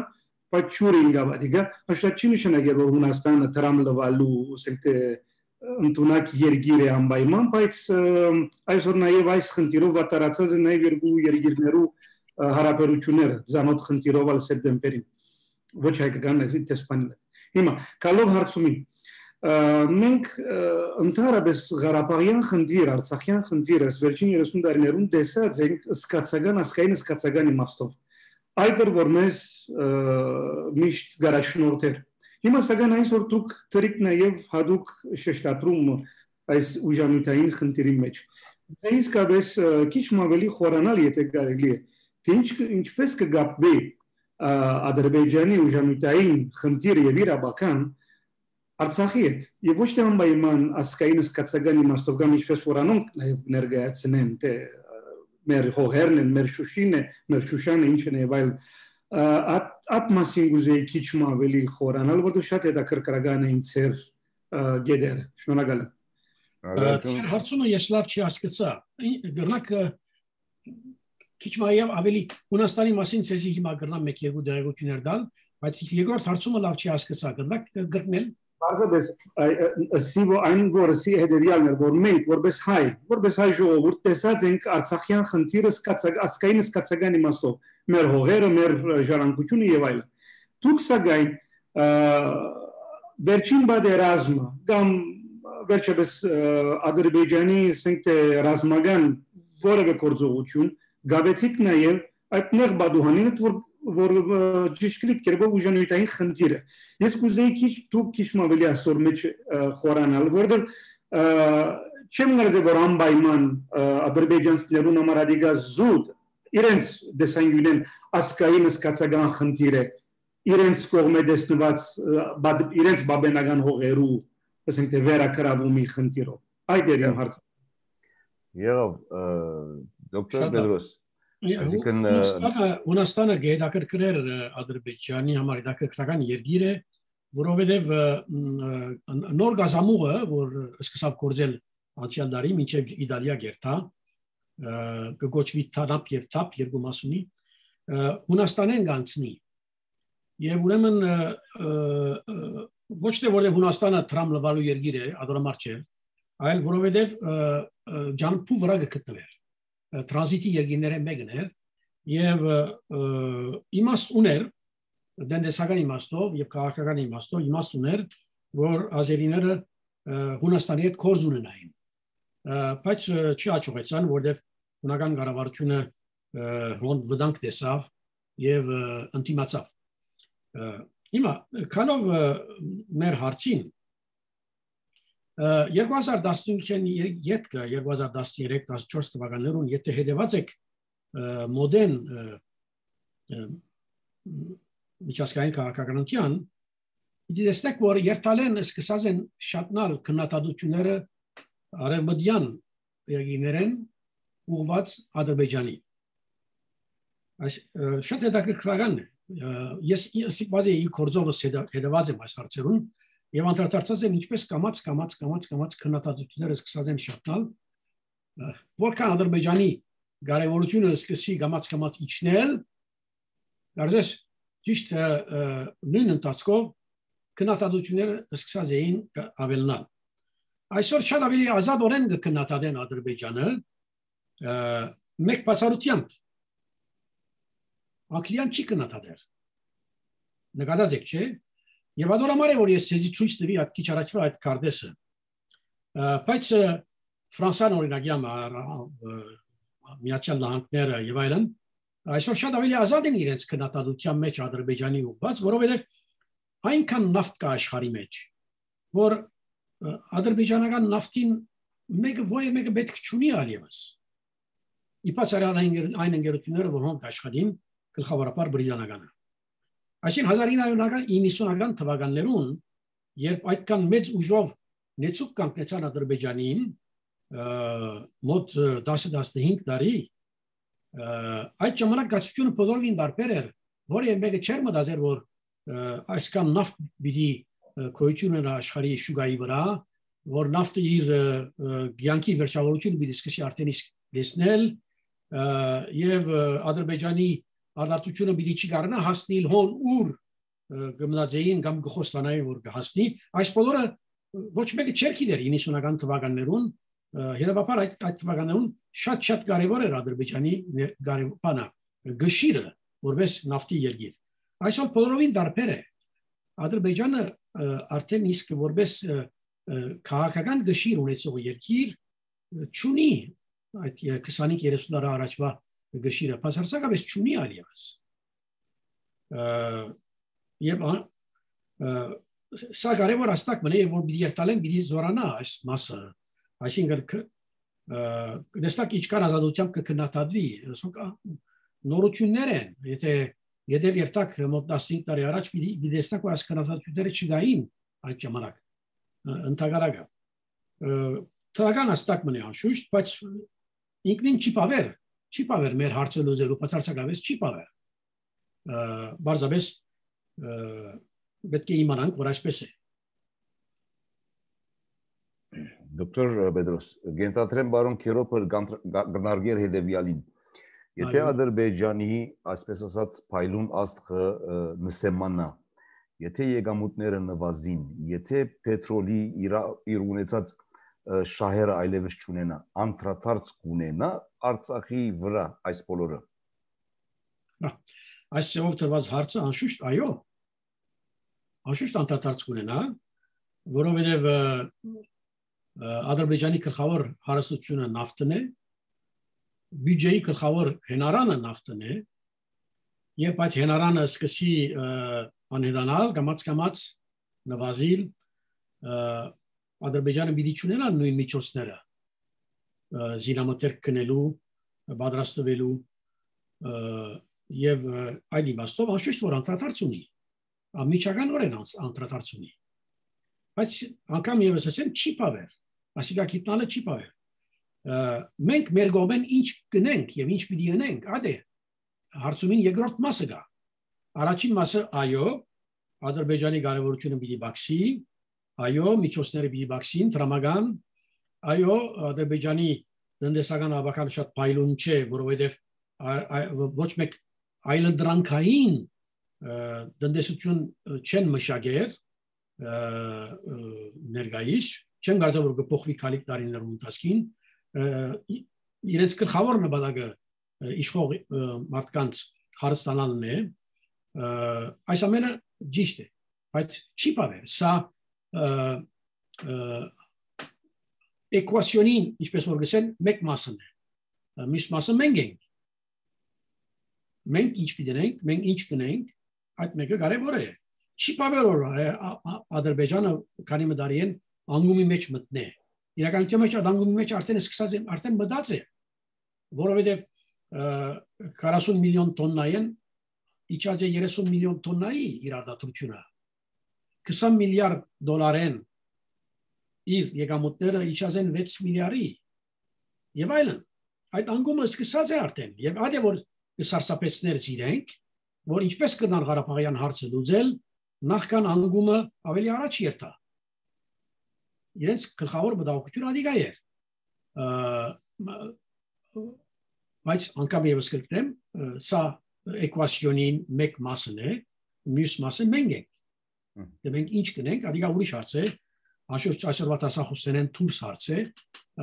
բայց չուրին գավադիգա, հաշտակ չի նշանակել որ Հունաստանը Թրամ լվալու ասենք ընդունակ երկիր է անպայման, բայց այսօր նաև այս խնդիրով վատարացած է նաև երկու երկիրներու հարաբերությունները, զանոթ խնդիրով ալ սեպտեմբերին, ոչ հայկական այսի տեսփանին։ Հիմա կալով հարցումին, մենք ընդհանրապես Ղարաբաղյան խնդիր, Արցախյան խնդիրը վերջին 30 տարիներուն տեսած ենք սկացական ասկային սկացական իմաստով։ Այդ որ մեզ միշտ գարաշնորհ Հիմա սակայն այսօր դուք դրիք նաև հadoop շեշտադրում այս ուժամիթային խնդիրի մեջ։ Իսկապես քիչ ավելի խորանալ եթե կարելի է ինչպես կգապվի Ադրբեջանի ուժամիջային խնդիրը եւ իրավական Արցախի հետ եւ ոչ թե անպայման ասկային սկացական իմաստով կամ ինչպես որանոնք նաեւ ներկայացնեն թե մեր հողերն են, մեր Շուշինը, մեր Շուշանը ինչն է եւ այլ at մասին գուզեի քիչ ավելի խորանալ որտեղ շատ հետաքրքրական է ինձեր գեդեր շնորհակալ եմ հարցումը ես լավ չի հասկացա գրնակ քիչ մայավ ավելի Հունաստանի մասին ցեզի հիմա գրնամ մեկ երկու դերակցություններ դալ բայց երկրորդ հարցումը լավ չի հասկացա գրնակ գրնել Բարձրապես սիվո այն որսի հետեւյալն է որ մենք որպես հայ ժողովուրդ տեսած ենք Արցախյան խնդիրը ասկային սկացական իմաստով մեր հողերը մեր ժառանգությունը եւ այլն դուք սակայն վերջին բادرազմը կամ վերջապես Ադրբեջանի ասենք թե ռազմական որևէ գործողություն գավեցիկ նաեւ այդ նեղ բադուհանին որ ճիշտ կերպով ուժանույթային խնդիրը ես կուզեի քիչ ավելի ասոր մեջ խորանալ որտեղ չեմ գարզե որ անպայման ադրբեջանցիներուն համար ադիգա զուտ իրենց դեսանգյունեն ասկային սկացական խնդիրը իրենց կողմէ դեսնված իրենց բաբենական հողերու ասենք թե վերակրավումի խնդիրով այդ էր իմ հարցը եղավ դոկտոր Բեդրոս Հունաստանը գեդակրկրեր Ադրբեջանի համար դակրկրական երկիր է, որովհետև նոր գազամուղը, որ սկսավ գործել անցյալ դարի մինչև Իտալիա գերտա, կգոչվի TANAP եւ TAP երկու մասունի, Հունաստանեն գանցնի։ Եվ ուրեմն ոչ թե որովհետև Հունաստանը տրամլվալու երկիր է, ադորամար չէ, այլ որովհետև ջանփու վրա գտնվեր Տրանզիտի երկիրները մեկն էր եւ իմաստ ուներ դենտեսական իմաստով եւ քաղաքական իմաստով իմաստ ուներ որ ազերիները Հունաստանի հետ կորձ ունենային բայց չի աճողեցան որովհետեւ հունական կառավարությունը հոն վտանգ տեսավ եւ ընդդիմացավ հիմա քանով մեր հարցին 2015-ին յետքը 2013-14 թվականներուն եթե հետևած եք մոդեն միջազգային քաղաքականության դիտեցեք որ երթալեն սկսած են շատնալ քննադատությունները արևմտյան երկիներեն ուղված Ադրբեջանի այս շատ հետաքրքրական է ես բազի կորձովս հետևած եմ այս հարցերուն Եվ անդրադարձած եմ ինչպես կամաց քննադատությունները սկսած են շատնալ որքան Ադրբեջանի կարևորությունը սկսի կամաց իջնել դարձած ճիշտ նույն ընթացքով քննադատությունները սկսած էին ավելնալ այսօր շատ ավելի ազատորեն կքննադատեն Ադրբեջանը մեկ բացառությամբ Անգլիան չի քննադատել նկատած եք չէ Եվ ադորամար է որ ես ցեզի ցույց տվի այդ քիչ առաջվա այդ կարդեսը բայց Ֆրանսիան օրինակ Միացյալ Նահանգները եւ այլն այսօր շատ ավելի ազատ են իրենց քննադատության մեջ Ադրբեջանի ուղղված որովհետեւ այնքան նավթ կա աշխարհի մեջ որ ադրբեջանական նավթին մեկը պետք չունի allևս իպասարան այն ընկերությունները որոնք աշխատին գլխավորապես բրիտանականը Այսին 1990-ական թվականներուն, երբ այդքան մեծ ուժով նեցուկ կանգնեցան Ադրբեջանին, մոտ 10-15 տարի, այդ ժամանակ գացությունը բոլորին դարբեր էր, որը մեկը չէր մտածել, որ այսքան նավթ պիտի գոյություն ունենա աշխարհի շուկայի վրա, որ նավթը իր ցանկի վերջավորությունը պիտի սկսի արդեն իսկ դեսնել, եւ Ադրբեջանի Արտադրությունը պիտի չի կարողանա հասնել հոն ուր գմնաձեին կամ գխոստանային որ կհասնի այս բոլորը ոչ մեկը չէր գիտեր 90-ական թվականներուն երևաբար այդ թվականներուն շատ կարևոր էր Ադրբեջանի կարևորը գշիրը որպես նավթի երկիր այսօր բոլորովին դարբեր է Ադրբեջանը արդեն իսկ որպես քաղաքական գշիր ունեցող երկիր չունի այդ 25-30 տարի առաջվա գշիրը բացարձակապես չունի allևս եւ սա կարևոր աստակ մնա որ դիերտալեն պիտի զորանա այս մասը այսինքն դեստակ իչքան ազատությամբ կքննադատվի նորություններ են, եթե երթակ մոտ 15 տարի առաջ մի տեսնակ որ այս քննադատությունները չգային այդ ժամանակ ընդհանրակը թրական աստակ մնի անշուշտ, բայց ինքնին չի պավեր մեր հարցը լուծելու, բացարձակապես չի պավեր բարձրապես պետք է իմանանք, որ այսպես է Դոկտոր Պետրոս, գենտատրեմ բարոն Քերոպը գնարգեր հետևյալին Եթե Ադրբեջանի, այսպես ասած, փայլուն աստղը նսեմանա, եթե եկամուտները նվազին, եթե պետրոլի իր ունեցած շահերը այլևս չունենա, անդրադարձ կունենա Արցախի վրա այս բոլորը։ Այս ծավալ տրված հարցը անշուշտ այո, անշուշտ անդրադարձ կունենա, որովհետև Ադրբեջանի գլխավոր հարստությունը նավթն է, բյուջեի գլխավոր հենարանը նավթն է, եւ այդ հենարանը սկսի անհետանալ, կամաց նվազիլ, Ադրբեջանը պիտի չունենա նույն միջոցները զինամթերք գնելու, պատրաստվելու եւ այդ իմաստով անշուշտ որ անդրադարձ ունի, միջականորեն անդրադարձ ունի, բայց անգամ եւս ասեմ չի պավեր, ասիկա գիտնալը չի պավեր մենք մեր գոմեն ինչ գնենք եւ ինչ պիտի անենք, այդ է հարցումին երկրորդ մասը գա։ Առաջին մասը այո, Ադրբեջանի կարևորությունը պիտի բացի, այո, միջոցները պիտի բացին, տրամական, այո, Ադրբեջանի տնտեսական ավական շատ փայլուն չէ, որովհետեւ ոչ մեկ այլընտրանքային տնտեսություն չեն մշակեր ներկայիս, չեն կարծում որ կփոխվի քանի տարիներում ընթացքին իրենց գլխավոր նպատակը իշխող մարդկանց հարստանալն է այս ամենը ճիշտ է բայց չի պարել սա էկվացիոնին ինչպես որ գսեն մեկ մասն է մյուս մասը մենք ենք մենք ինչ պիտենք մենք ինչ կնենք այդ մեկը կարևոր է չի պարել որ Ադրբեջանը քանի մդարի են անգումի մեջ մտնե իրականության մեջ անգումի մեջ արդեն մտած է որովհետև 40 միլիոն տոննային իջած է 30 միլիոն տոննայի իրադարձությունը 20 միլիարդ դոլարեն իր եկամուտները իջած են 6 միլիարդի եւ այլն այդ անգումը սկսած է արդեն եւ այդ է որ սարսափեցներ իրենք որ ինչպես կնան Ղարաբաղյան հարցը լուծել նախքան անգումը ավելի առաջ երթա իրենց գլխավոր մտահոգությունը ադիգա էր բայց անգամ եւս կգրեմ սա էկվացիոնին մեկ մասն է մյուս մասը մենք ենք դե մենք ինչ կնենք ադիգա ուրիշ հարց է անշուշտ այսօրվա տասախոսներեն դուրս հարց է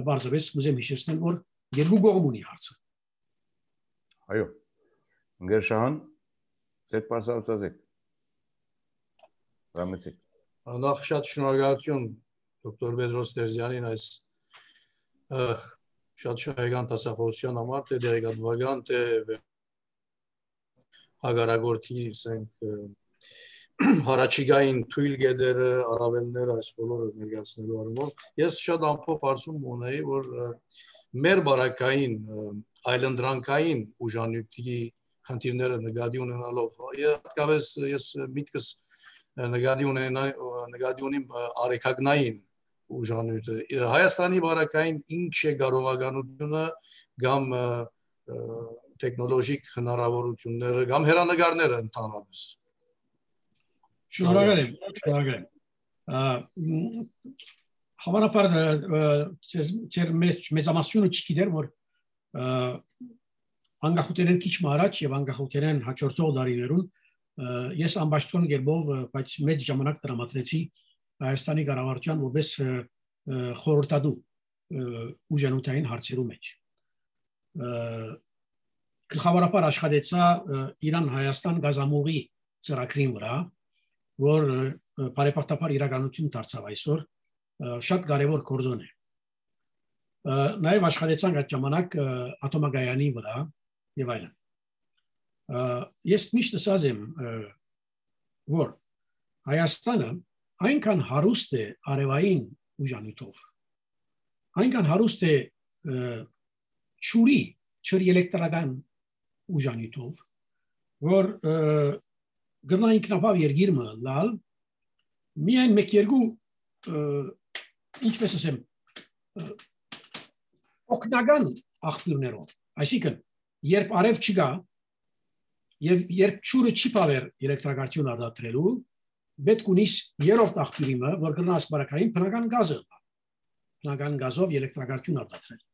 բարձրապես կուզեմ հիշեցնել որ երկու կողմ ունի հարցը այո Ընկերշահան ձեր բարձրացած Ռամեցիկ նախ շատ շնորհակալություն Դոկտոր Պետրոս Տերզյանին այս շատ շահեկան տասախոսության համար թե դերեկատվական թե հագարագործի հարաճիգային թույլ գեդերը առավելները այս բոլորը ներկայացնելու առումով ես շատ ամփոփ հարցում ունեի որ մեր բարակային այլընտրանքային ուժանյութի խնդիրները նկատի ունենալով հատկապես ես միտքս նկատի ունեմ արեքագնային ուժանյութը Հայաստանի բարակային ինչ է կարողականությունը կամ տեխնոլոգիկ հնարավորությունները կամ հերանեկարները ընդհանրապես Շնորհակալ եմ հավանաբար ձեր մեծամասնությունը չգիտեր որ անկախությունեն քիչ առաջ եւ անկախությունեն հաջորդող դարիներուն ես ամբաշտոն գերբով բայց մեծ ժամանակ տրամադրեցի Հայաստանի կառավարության որպես խորհրդատու ուժանութային հարցերու մեջ գլխավորապես աշխատեցա Իրան-Հայաստան գազամուղի ծրագրին վրա որ բարեփոխտապար իրականություն դարձավ այսօր շատ կարևոր գործոն է նաև աշխատեցանք այդ ժամանակ ատոմագայանի վրա եւ այլն ես միշտ ասած եմ որ Հայաստանը այնքան հարուստ է արևային ուժանյութով այնքան հարուստ է ջրի էլեկտրական ուժանյութով, որ գրնա ինքնապավ երգիրը լալ, միայն մեկ-երկու, ինչպես ասեմ, օգնական աղբյուրներով, այսինքն, երբ արև չգա, եւ երբ ճուրը չի պավեր էլեկտրակայություն արտադրելու, պետք ունիս երրորդ աղբյուրը, որ գրնա ասպարակային բնական գազը, բնական գազով էլեկտրակայություն արտադրել։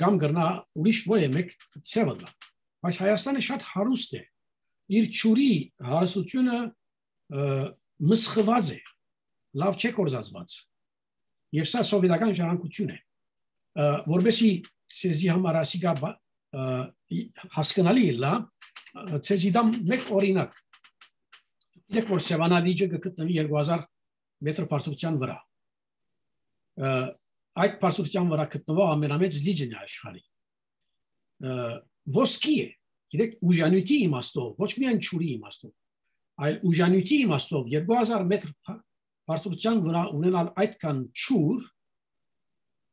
Կամ գրնա ուրիշ ոյ մեկ ցևը լա։ Բայց Հայաստանը շատ հարուստ է։ Իր ճուրի հարստությունը մսխված է, լավ չէ կորզածված։ Եվ սա սովետական ժառանգություն է, որովհետեւ ցեզի համար ասիկա հասկանալի լա, ցեզի դամ մեկ օրինակ։ Դեք որ Սևանավիճը գտնվի 2000 մետր բարձրության վրա։ Այդ բարձրության վրա գտնվող ամենամեծ լիճն է աշխարհի։ Ոսկի է, գիտեք, ուժանյութի իմաստով, ոչ միայն ճուրի իմաստով, այլ ուժանյութի իմաստով 2000 մետր բարձրության վրա ունենալ այդքան ճուր,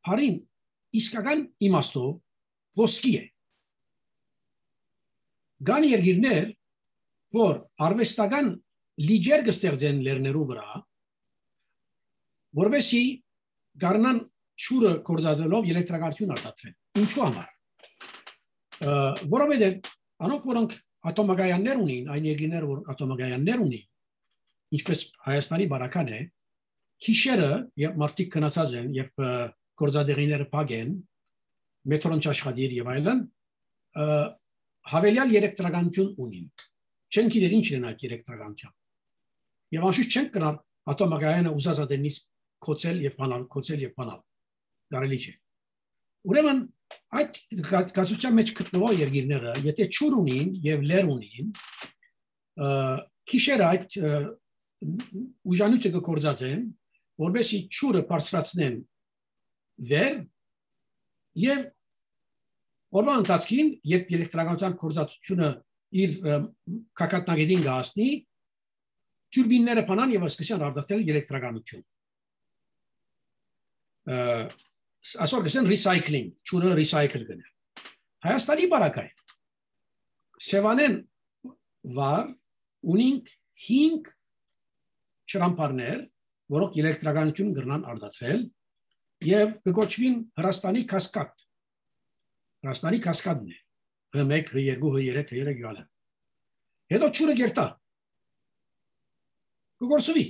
հարին իսկական իմաստով ոսկի է։ Կան երկիրներ, որ արվեստական լիջեր կստեղծեն լեռներու վրա, որովհետեւ գարնան ճուրը կորզադրելով էլեկտրակայություն արտադրեն։ Ինչու համար։ Որովհետեւ անոնք որոնք ատոմագայաններ ունին, այն երկիրներ, որ ատոմագայաններ ունին, ինչպես Հայաստանի բարական է, քիշերը, երբ մարդիկ քնացած են, երբ կորզադեղիները փագեն, մետրոն չաշխատիր եւ այլն, հավելյալ էլեկտրականություն ունին։ Չեն գիտեր ինչ են այդ էլեկտրականությամբ։ Եվ անշուշտ չեն կրար ատոմագայանը ուզածադենից կոծել եւ բանալ։ Կարելի չէ։ Ուրեմն այդ գազության մեջ գտնվող երկիրները, եթե ճուր ունին եւ լեր ունին, քիշերը այդ ուժանյութը կորզածեն, որովհետեւ ճուրը բարձրացնեն վեր եւ օրվա ընթացքին, երբ էլեկտրականության կորզածությունը իր կակատնագետին գահասնի, տուրբինները բանան եւ սկսեն արտադրել էլեկտրականություն։ Այսօր կսեն recycling, ճուրը recycle գնել։ Հայաստանի բարակայ Սևանեն վար ունինք 5 ճրամփարներ, որոնք էլեկտրականություն կգրնան արտադրել եւ կգոչվին Հրաստանի կասկադ։ Հրաստանի կասկադն է։ H1, H2, H3, H3 գալը։ Հետո ճուրը գերտա։ Կգործվի։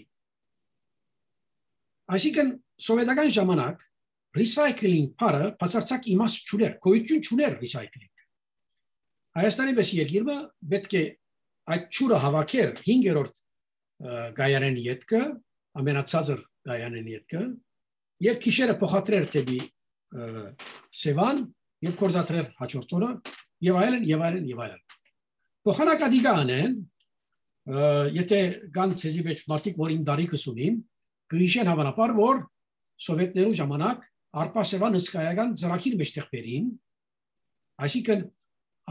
Այսինքն սովետական ժամանակ recycling parը բացարձակ իմաստ չուներ, գոյություն չուներ recycling։ Հայաստանի պես երկիրը պետք է այդ ճուրը հավաքեր 5-րդ գայանեն ետքը, ամենացածր գայանեն ետքը, եւ քիշերը փոխադրեր դեպի Սևան եւ կորզադրեր հաջորդ օրը եւ այլն եւ այլն եւ այլն։ Փոխանակադիգա անեն, եթե կան ցեզի մեջ մարդիկ, որ իմ դարիքս ունին, գրիշեն հավանաբար, որ սովետներու ժամանակ Արպասևան հսկայական ծրագիր մեջտեղ բերին, այսինքն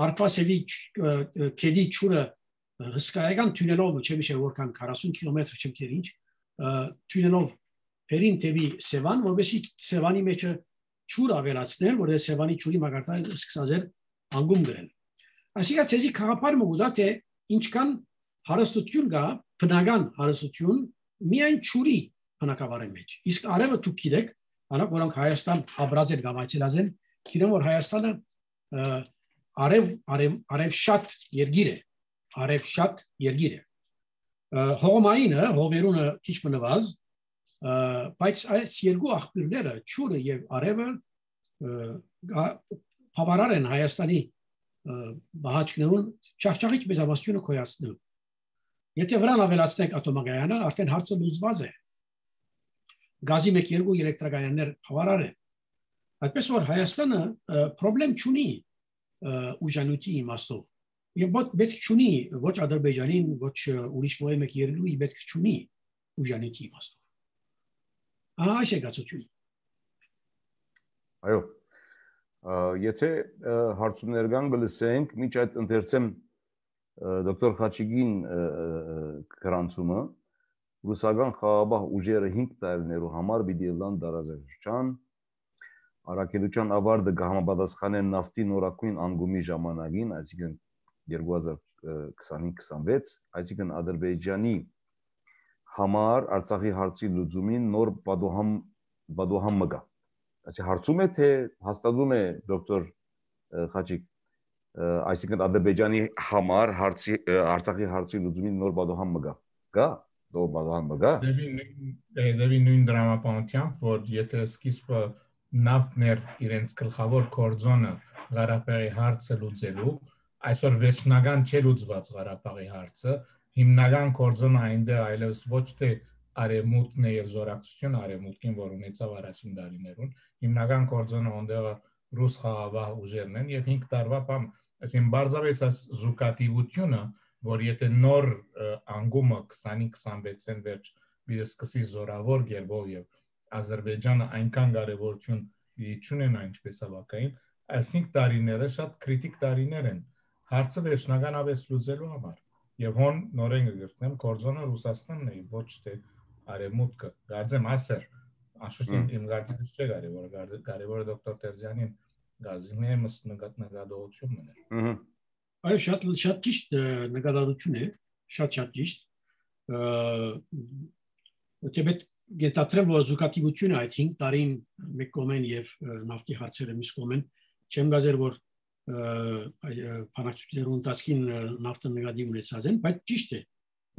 Արպասևի քեդի ճուրը հսկայական թունելով, չեմ որքան 40 կիլոմետր չեմ գիտեր ինչ, թունելով բերին դեպի Սևան, որովհետեւ Սևանի մեջը ճուր ավելացնել, որովհետեւ Սևանի ճուրի մագարտը սկսած էր անգում գրել։ Այսինքն ցեզի քաղաքապարը մուգուտա թե ինչքան հարստություն կա, բնական հարստություն միայն ճուրի բնակավարի մեջ։ Իսկ արևը դուք գիտեք, անակ որոնք Հայաստան ապրած են կամ այցելած են, գիտեն որ Հայաստանը արև շատ երգիր է, արև շատ երգիր է։ Հողմայինը, հովերունը քիչ մնված, բայց այս երկու աղբյուրները, ճուրը եւ արևը, բավարար են Հայաստանի բահաճկներուն չաղճաղիչ մեծամասնությունը կոյացնել։ Եթե վրան ավելացնենք ատոմագայանը, արդեն հարցը լուծված է։ Գազի 1-2 էլեկտրակայաններ բավարար են։ Այդպես որ Հայաստանը խնդրեմ չունի ուժանյութի իմաստով։ Եվ պետք չունի ոչ Ադրբեջանին, ոչ ուրիշ ոյ մեկ երկրի պետք չունի ուժանյութի իմաստով։ Այս է գացությունը։ Այո։ Եթե հարցումներ կան գլսենք, միջ այդ ընթերցեմ դոկտոր Խաչիգին գրանցումը, ռուսական խաղաղ ուժերը 5 տարիներու համար պիտի լան դարաշրջան, առաքելության ավարտը կհամապատասխանեն նավթի նորակույն անկումի ժամանակին, այսինքն 2025-26, այսինքն Ադրբեջանի համար Արցախի հարցի լուծումին նոր բադուհամ մգա։ Այսինքն հարցում է թե հաստատում է դոկտոր Խաչիկ, այսինքն Ադրբեջանի համար Արցախի հարցի լուծումին նոր բադուհամ մգա։ Գա, նոր բադուհամ մգա։ Դեպի նույն դրամապանությամբ, որ եթե սկիզբը նավթն էր իրենց գլխավոր կորձոնը Ղարաբաղի հարցը լուծելու, այսօր վերջնական չէ լուծված Ղարաբաղի հարցը, հիմնական կորձոնը այնտեղ այլևս ոչ թե արևմուտքն է եւ զորակցությունը արևմուտքին, որ ունեցավ առաջին տարիներուն, հիմնական կորձոնը ondեղը ռուս խաղաղ ուժերն են եւ 5 տարվա բամ, այսինքն բարձրապես այս զուգատիվությունը, որ եթե նոր անկումը 20-26-ին վերջ մի սկսի զորավոր գերբով եւ Ադրբեջանը այնքան կարեւորություն չունենա ինչպես ավակային, այս 5 տարիները շատ քրիտիկ տարիներ են հարցը վերջնականապես լուծելու համար։ Եվ հոն նորեն կգրտնեմ կորձոնը Ռուսաստանն է, ոչ թե արևմուտքը։ Գարձեմ ասեր, աշուշտին իմ գարձիկը չէ կարևորը դոկտոր Տերզյանին գարձիկն է մս նկատողությունն է։ Այո, շատ ճիշտ նկատողություն է, շատ ճիշտ։ Դեպետ գետատրեմ որ զուգատիվությունը այդ 5 տարին մեկ կողմեն եւ նավթի հարցերը մյուս կողմեն չեմ գազեր որ բանակցությունների ընթացքին նավթը նկատի ունեցած են, բայց ճիշտ է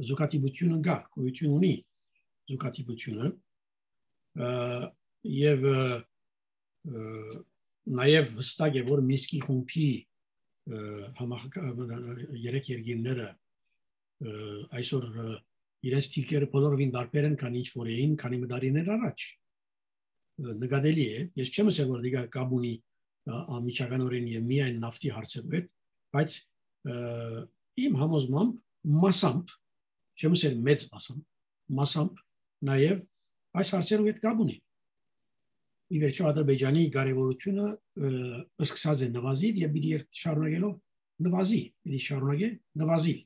զուգատիվությունը կա, գոյություն ունի զուգատիվությունը եւ նաեւ հստակ է որ Մինսկի խումբի երեք երկիրները այսօր իրենց թիրքերը բոլորովին տարբեր են, քան ինչ որ էին, քանի մտարիներ առաջ։ Նկատելի է, ես չեմ ասել որ դիգա կաբունի ամիջականորեն եւ միայն նավթի հարցերով է, բայց իմ համոզմամբ մասամբ, չեմ ասել մեծ մասամբ նաեւ այս հարցերով է կաբունի։ Ի վերջո Ադրբեջանի կարևորությունը սկսած է նվազիլ եւ պիտի շարունակելով նվազի, պիտի շարունակե նվազիլ։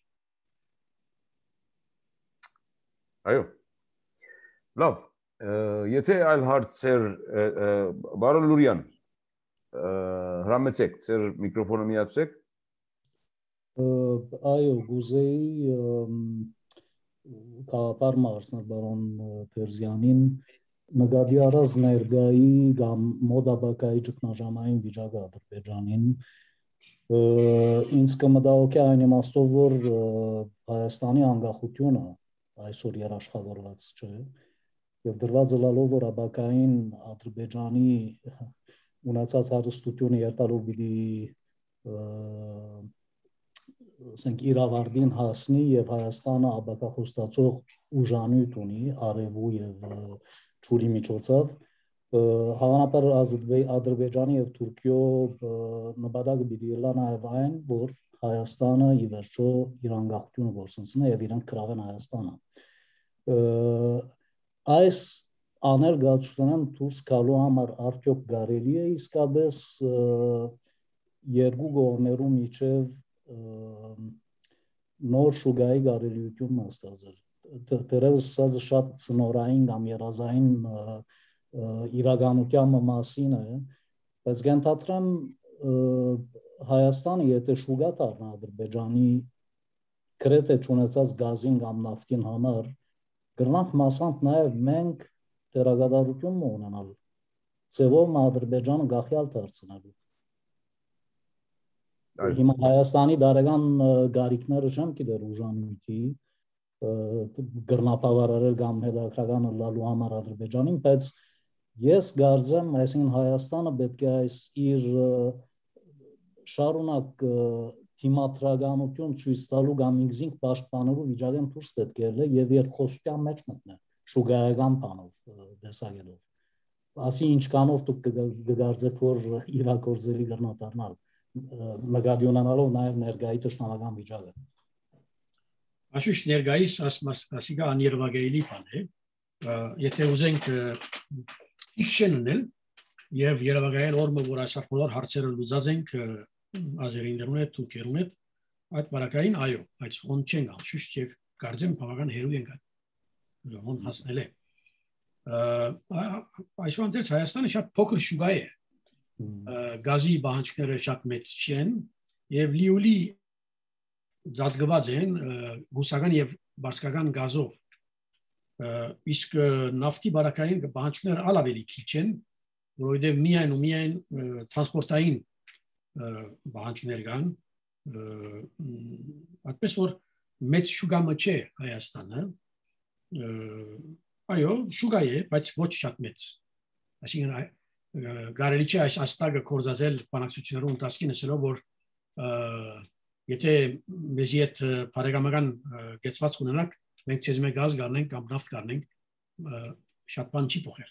Այո։ Լավ, եթե այլ հարցեր բարոն Լուրյան հրամեցեք, ձեր միկրոֆոնը միացեք։ Այո, գուզեի կապար մարսներ բարոն Տերզյանին նկատի առած ներգայի կամ մոդաբակայի ճգնաժամային վիճակը Ադրբեջանին ինձ կմտահոգի այն իմաստով որ Հայաստանի անկախությունը այսօր երաշխավորված չէ եւ դրված լալով որ աբակային Ադրբեջանի ունեցած հարստությունը երթալով պիտի ասենք իրավարդին հասնի եւ Հայաստանը աբակախոստացող ուժանույթ ունի արևու եւ ճուրի միջոցով հավանաբար Ադրբեջանի եւ Թուրքիո նպատակը պիտի լա նաեւ այն որ Հայաստանը ի վերջո իր անկախությունը գործընծնի եւ իրենք կրավեն Հայաստանը այս աներգացությունն դուրս գալու համար արդյոք կարելի է իսկապես երկու կողմերու միջև նոր շուգայի կարելիություն ստացել դերևս սա շատ ծնորային կամ երազային իրականության մասին է բայց գենթատրեմ Հայաստանը եթե շուգա դառնա Ադրբեջանի գրեթե չունեցած գազին կամ նավթին համար գրնանք մասամբ նաև մենք դերակատարություն ունենալ ձևով Ադրբեջանը գախյալ դարձնելու հիմա Հայաստանի դարեգան գարիկները չեմ գիտեր ուժանույթի գրնապավարարել կամ հետաքրական լալու համար Ադրբեջանին բայց ես կարծեմ այսինքն Հայաստանը պետք է այս իր շարունակ թիմատրականություն ցույց տալու կամ ինքզինք պաշտպանելու վիճակեն դուրս պետք է լինի եւ երկխոսության մեջ մտնել շուգայական բանով դեսագելով ասի ինչքանով դուք կգարձեք որ իրակորձելի կրնադառնալ նկատի ունենալով նաեւ ներգայի ճշտամական վիճակը Աշուշ ներգայիս ասիկա աներվագայելի բան է եթե ուզենք ֆիքշն ունել եւ երևակայել օրը որ այսա բոլոր հարցերը լուծած ենք ազերիներուն հետ թուրքերուն հետ այդ բարակային այո բայց ոնց չեն աշուշ եւ կարծեմ բավական հերու են ոնց հասնել է այսօր դες Հայաստանը շատ փոքր շուգա է գազի բանջարները շատ մեծ չեն եւ լիոլի ծածկված են ռուսական եւ բասկական գազով իսկ նավթի բարակային բանջարները ալավելի քիչ են որովհետեւ միայն տրանսպորտային բանջարներ կան այդպես որ մեծ շուգամը չէ Հայաստանը այո շուգա է բայց ոչ շատ մեծ այսինքն կարելի չէ այս աստագը կորզածել բանակցություններում տասկինը սելով որ եթե մեզի այդ բարեկամական գեցված ունենանք մենք ցեզ մեկ գազ գարնենք կամ նավթ գարնենք շատ բան չի փոխեր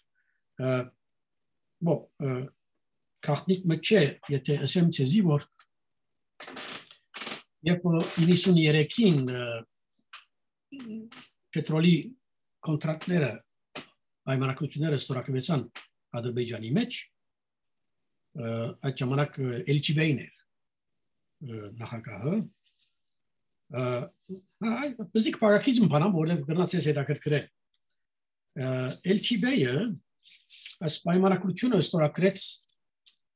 քախնիկ մը չէ եթե ասեմ ցեզի որ երբ 93-ին պետրոլի կոնտրակտները պայմանագրությունները ստորագրվեցան Ադրբեջանի մեջ այդ ժամանակ Էլչիբեյն էր նախագահը բզիկ պարակիզմ բանամ որև գնացես հետաքրքրել Էլչիբեյը այս պայմանագրությունը ստորագրեց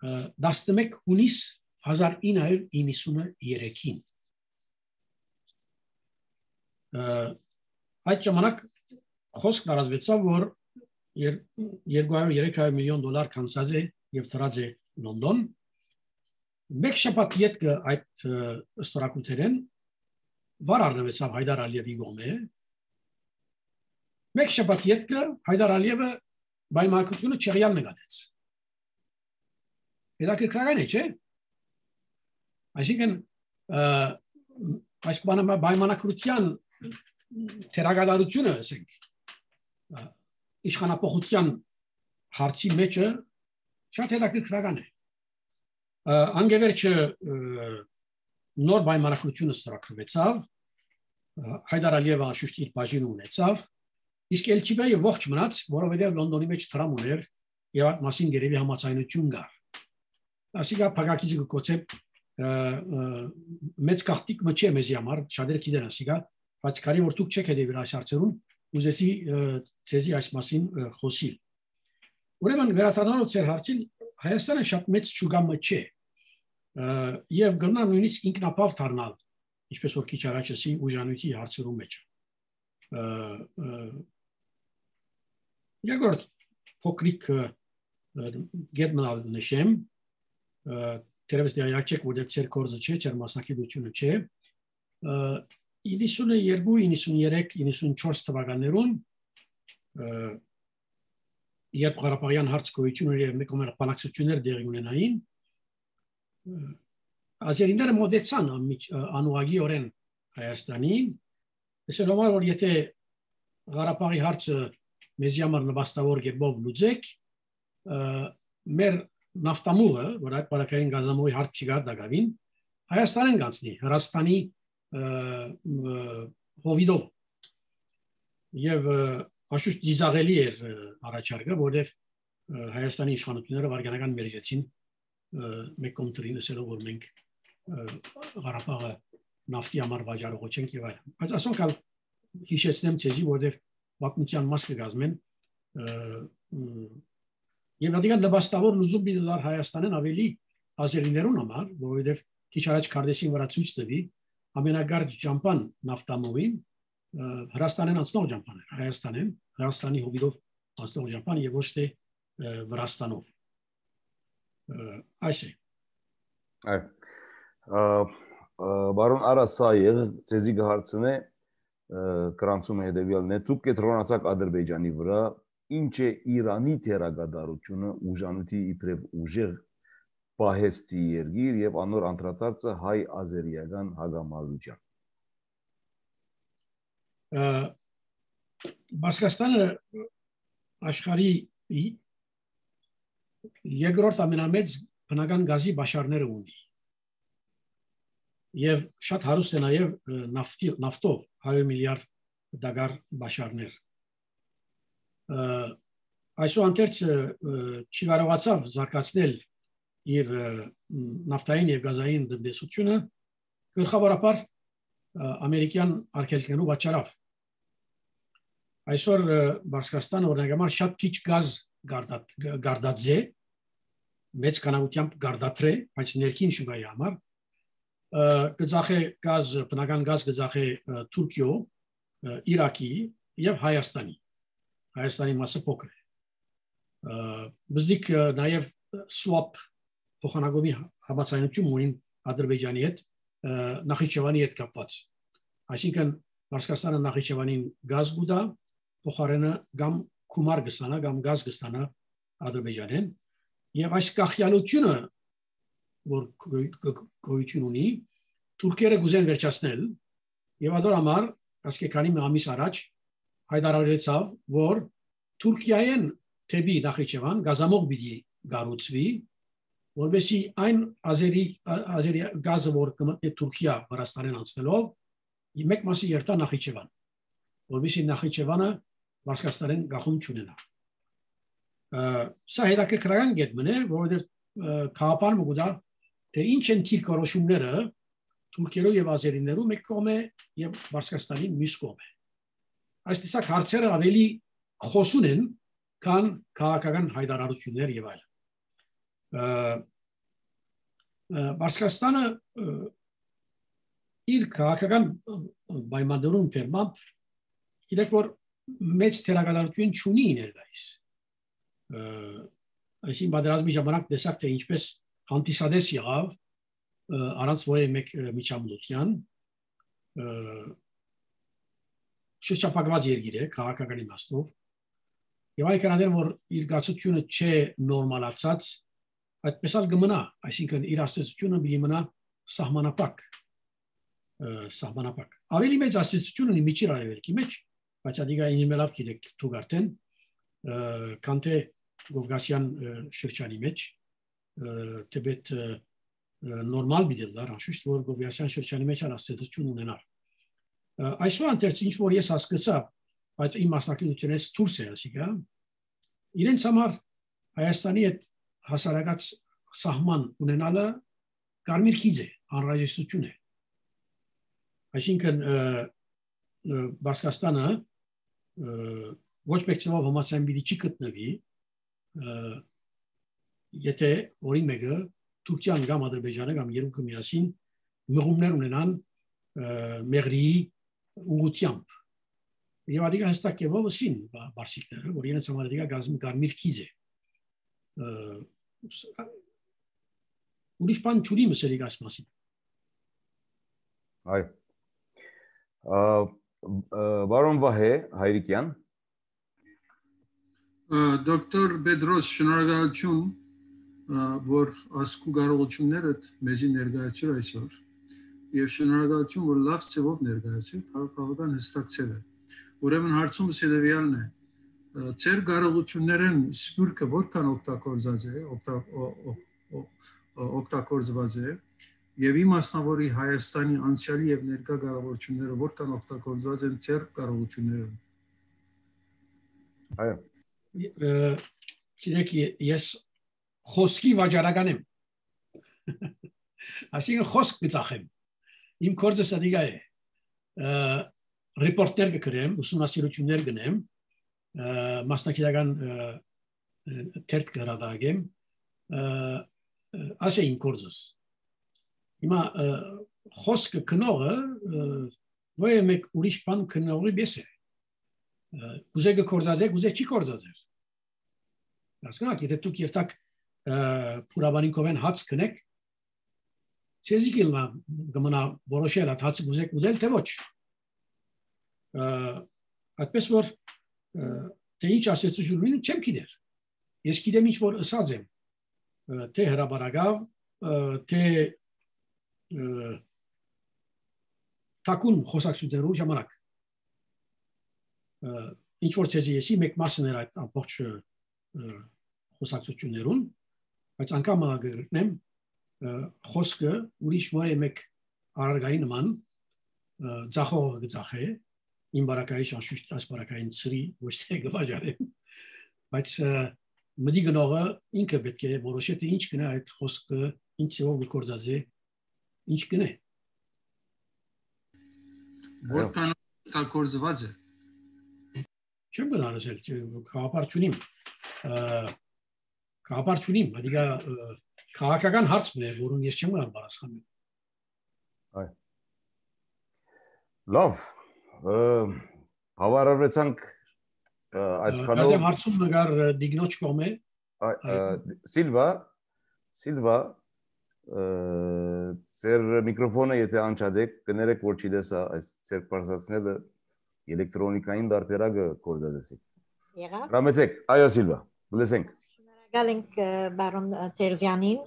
11 հունիս 1993-ին այդ ժամանակ խոսք տարածվեցավ որ 200-300 միլիոն դոլար կանցած է եւ դրած է Լոնդոն մեկ շաբաթ յետքը այդ ստորագրություններն վար առնվեցավ Հայդար Ալիևի գոմե մեկ շաբաթ յետքը Հայդար Ալիևը պայմանագրությունը չեղյալ նկատեց հետաքրքրական է չէ այսինքն այս պայմանագրության թերագադարությունը ասենք իշխանապողության հարցի մեջը շատ հետաքրքրական է անգևերջը նոր պայմանագրությունը ստորագրվեցավ Հայդար Ալիևը անշուշտ իր բաժինը ունեցավ իսկ Էլչիբեյը ողջ մնաց որովհետև Լոնդոնի մեջ տրամ ուներ եւ այդ մասին գերեւի համաձայնություն կար ասիկա փակակիցը կոչել մեծ կախտիկ մը չէ մեզի համար շատերը գիտեն ասիկա բայց կարի որ դուք չեք հետևել այս հարցերուն ուզեցի ցեզի այս մասին խոսիլ ուրեմն վերադառնալով ձեր հարցին Հայաստանը շատ մեծ շուգամը չէ եւ գնա նույնիսկ ինքնապավ դառնալ ինչպես որ քիչ առաջ ասի ուժանույթի հարցերում մեջ երկրորդ փոքրիկ գետնալ նշեմ Terevs de ayakçek bu depçer korzu çe çermasaki bütünü çe. 92, 93, 94 tվականներուն երբ Ղարաբաղյան հարց գոյություն էր մեկ օմեր բանակցություններ դեղի ունենային ազերիները մոտեցան անուղագի օրեն Հայաստանին այսօր համար որ եթե Ղարաբաղի հարցը մեզի համար նպաստավոր կերպով լուծեք մեր նավթամուղը որ այդ բարակային գազամուղի հարց չկար դակավին Հայաստանին կանցնի Հրաստանի հովիդով եւ Աշուշ դիզաղելի էր առաջարկը, որովհետև Հայաստանի իշխանությունները վարգանական մերժեցին մեկ կոմտրին ասելով որ մենք Ղարաբաղը նավթի համար վաճառող չենք եւ այլն։ Բայց ասոնք հիշեցնեմ ցեզի, որովհետև պատմության մաս կգազմեն եւ դիգան նպաստավոր լուզում բիդար Հայաստանին ավելի ազերիներուն համար, որովհետև քիչ առաջ Քարդեսին վրա ցույց տվի ամենագարջ ջամփան նավթամուղին Հրաստանեն անցնող ջամփան էր, Հայաստանի հովիդով անցնող ջամփան եւ ոչ թե Վրաստանով։ Այս է։ Բարոն Արասաև ցեզի գահարցնե կրանցում է հետեւյալն է դուք կետրոնացաք Ադրբեջանի վրա ինչ է Իրանի թերագադարությունը ուժանույթի իբրև ուժեղ պահեստի երգիր եւ անոր անդրադարձը հայ-ազերիական հագամալության Բասկաստանը աշխարհի երկրորդ ամենամեծ բնական գազի բաշարները ունի եւ շատ հարուստ է նաեւ նավթով 100 միլիարդ դոլար բաշարներ այսուհանդերձ չի կարողացավ զարգացնել իր նավթային եւ գազային տնտեսությունը գլխավորապես ամերիկյան արգելքներով պատճառով այսօր Բասկաստանը օրինակ շատ քիչ գազ գարդած է մեծ կանանությամբ գարդատրե, բայց ներքին շուկայի համար գծախե գազ, բնական գազ գծախե Թուրքիո, Իրաքի եւ Հայաստանի։ Հայաստանի մասը փոքր է։ Բզիկ նաեւ swap փոխանակումի համաձայնություն ունին Ադրբեջանի հետ, Նախիջևանի հետ կապված։ Այսինքն Պարսկաստանը Նախիջևանին գազ գուտա, փոխարենը կամ գումար կստանա, կամ գազ կստանա Ադրբեջանեն, եւ այս կախյալությունը, որ գոյություն ունի, թուրքերը գուզեն վերջացնել, եւ ադոր համար, ասկե քանի ամիս առաջ հայտարարեցավ, որ Թուրքիայեն թեպի Նախիջևան գազամող պիտի գառուցվի, որովհետեւ այն ազերի գազը, որ կմտնի Թուրքիա Վրաստանին անցնելով, մեկ մասի երթա Նախիջևան, որովհետեւ Նախիջևանը Պարսկաստանեն գախում չունենա։ Սա հետաքրքրական գետ մնե, որովհետեւ քաղաքական մուգուտա թե ինչ են թիրքորոշումները թուրքերով եւ ազերիներով մեկ կողմ է եւ Պարսկաստանի մյուս կողմ է։ Այս տեսակ հարցերը ավելի խոսուն են, քան քաղաքական հայտարարություններ եւ այլն։ Պարսկաստանը իր քաղաքական պայմաններուն պերմամբ գիտեք որ մեծ թերակատարություն չունի ներկայիս։ Այսին պատերազմի ժամանակ տեսակ թե ինչպես հանդիսադես եղավ առանց ոյե մեկ միջամտության շրջապակված երկիր է քաղաքական իմաստով եւ այ կանադեն որ իր գացությունը չէ նորմալացած այդպես էլ կմնա այսինքն իր աստեցությունը մի մնա սահմանապակ ավելի մեծ աստեցություն ունի միջին արևելքի մեջ բայց ադիգա ինիմելավ գիտեք դուք արդեն քան թե Կովկասյան շրջանի մեջ թեպետ նորմալ բիդելար անշուշտ որ Կովկասյան շրջանի մեջ աստեցություն ունենար այսօր անտերց ինչ որ ես հասկացա բայց իմ մասնակցությունից դուրս է ասիկա իրենց համար Հայաստանի հետ հասարակած սահման ունենալը կարմիր քիծ է անհրաժեշտություն է այսինքն Պարսկաստանը ոչ մեկ ծավալ համասային բիդի չի գտնվի եթե օրին մեկը Թուրքիան կամ Ադրբեջանը կամ երկուքը միասին մղումներ ունենան մեղրիի ուղղությամբ եւ ադիգա հստակ է ովսին բարսիկները որ իրենց համար ադիգա գազի կարմիր քիզ է ուրիշ բան չունի մսերի գազ մասին այ Բարոն Վահե Հայրիկյան Դոկտոր Բեդրոս շնորհակալություն որ ասկու կարողություններդ մեզի ներկայացրու այսօր եւ շնորհակալություն որ լավ ծավով ներկայացրու բավական հստակցել է ուրեմն հարցումս հետեւյալն է ծեր կարողություններն սպուրկը որքան օգտագործված է եւ իմ մասնավորի Հայաստանի անցյալի եւ ներկա կարողությունները որքան օգտագործված են ծեր կարողությունները այո Գիտեք ես խոսքի վաճառական եմ այսինքն խոսք գծախեմ իմ կորձս ադիգա է ռեպորտներ կգրեմ ուսումնասիրություններ գնեմ մասնակցական թերթ կհրատարակեմ ասե իմ կորձս հիմա խոսքը քնողը ոյ մեկ ուրիշ բան քնողի պես է Ուզե կորզածեք, ուզե չի կորզածեր Հասկանաք, եթե դուք երթակ փուրաբանինքով հաց կնեք ցեզի կմնա որոշել այդ հացը ուզեք ուդել թե ոչ այդպես որ թե ինչ ասեցություն ունի չեմ գիտեր ես գիտեմ ինչ որ ըսած եմ թե հրաբարագավ թե թակուն խոսակցություններու ժամանակ ինչ որ ցեզի եսի մեկ մասն էր այդ ամբողջ խոսակցություններուն բայց անգամ ագրնեմ խոսքը ուրիշ ոյ մեկ արարգայի նման ձախողը գծախե իմ բարակայի շանշուշտ այս բարակային ծրի ոչ թե գվաճարեմ բայց մդի գնողը ինքը պետք է որոշի թե ինչ կնա այդ խոսքը ինչ ծով գործած է ինչ կնե որքան օգտագործված է չեմ գնալսել խաղապար չունիմ Կապար չունիմ, դիգա քաղաքական հարցն է, որում ես չեմ կարող պատասխանել։ Այ։ Լավ, հավարարվեցանք այսքանով։ Գարձեմ հարցում նգար դիգնոջ կողմե։ Սիլվա, ծեր միկրոֆոնը եթե անջադեք, կներեք, որ չի դեսա այս ծեր պարզացնելը էլեկտրոնիկային դարբերակը կորզադեսի։ Եղավ։ Ռամեցեք, այո Սիլվա, լսենք։ Շնորհակալ ենք բարոն Տերզյանին։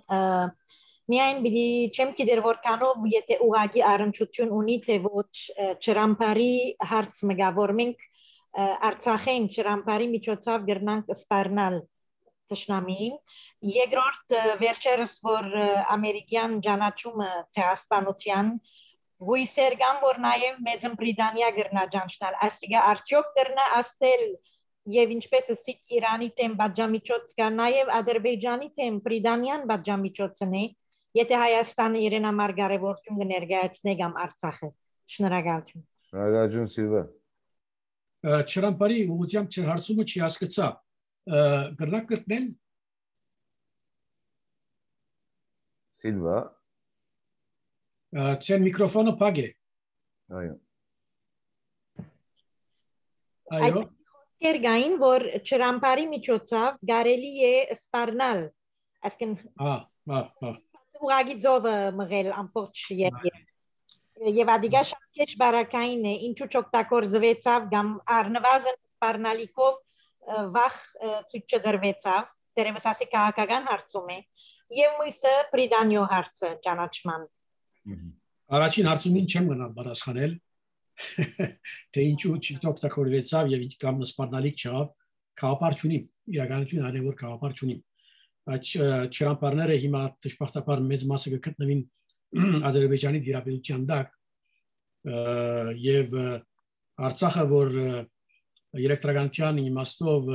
Միայն պիտի չեմ գիտեր որքանով եթե ուղղակի առնչություն ունի թե ոչ ճրամփարի հարց մգա, որ մենք Արցախեն ճրամփարի միջոցով գրնանք սպառնալ Տշնամին, երկրորդ վերջերս որ ամերիկյան ճանաչումը ցեղասպանության հույսեր կան որ նաև Մեծն Բրիտանիա գրնա ճանաչել, այսինքն արդյոք գրնա ասել եւ ինչպես ասիկ Իրանի թեմ բաժամիջոց կա նաև Ադրբեջանի թեմ Բրիտանիան բաժամիջոցն է, եթե Հայաստանը իրեն համար կարևորություն կներկայացնի կամ Արցախը։ Շնորհակալություն։ Շնորհակալություն Սիլվա։ Ճրամփարի ուղղությամբ չեր հարցումը չի հասկացա։ Գրնակ կրկնեն Սիլվա։ Ձեր միկրոֆոնը փակ է։ Այո։ Այո։ Կերգային որ ճրամփարի միջոցով կարելի է սպառնալ, այսինքն ուղղակի ձովը մղել ամբողջ եւ ադիգա շատ քիչ բարակային է, ինչու չօգտագործվեցավ կամ առնվազն սպառնալիքով վախ ցույց չդրվեցավ, դերևս ասի քաղաքական հարցում է եւ մյուսը Բրիտանիո հարցը ճանաչման։ Առաջին հարցումին չեմ գնալ պատասխանել, թե ինչու չօգտագործվեցավ եւ կամ սպառնալիք չավ, քաղաքապար չունի, իրականություն այն է որ քաղաքապար չունի։ Այդ ճրամփարները հիմա դժբախտաբար մեծ մասը կգտնվին Ադրբեջանի դիրապետության տակ եւ Արցախը որ էլեկտրականության իմաստով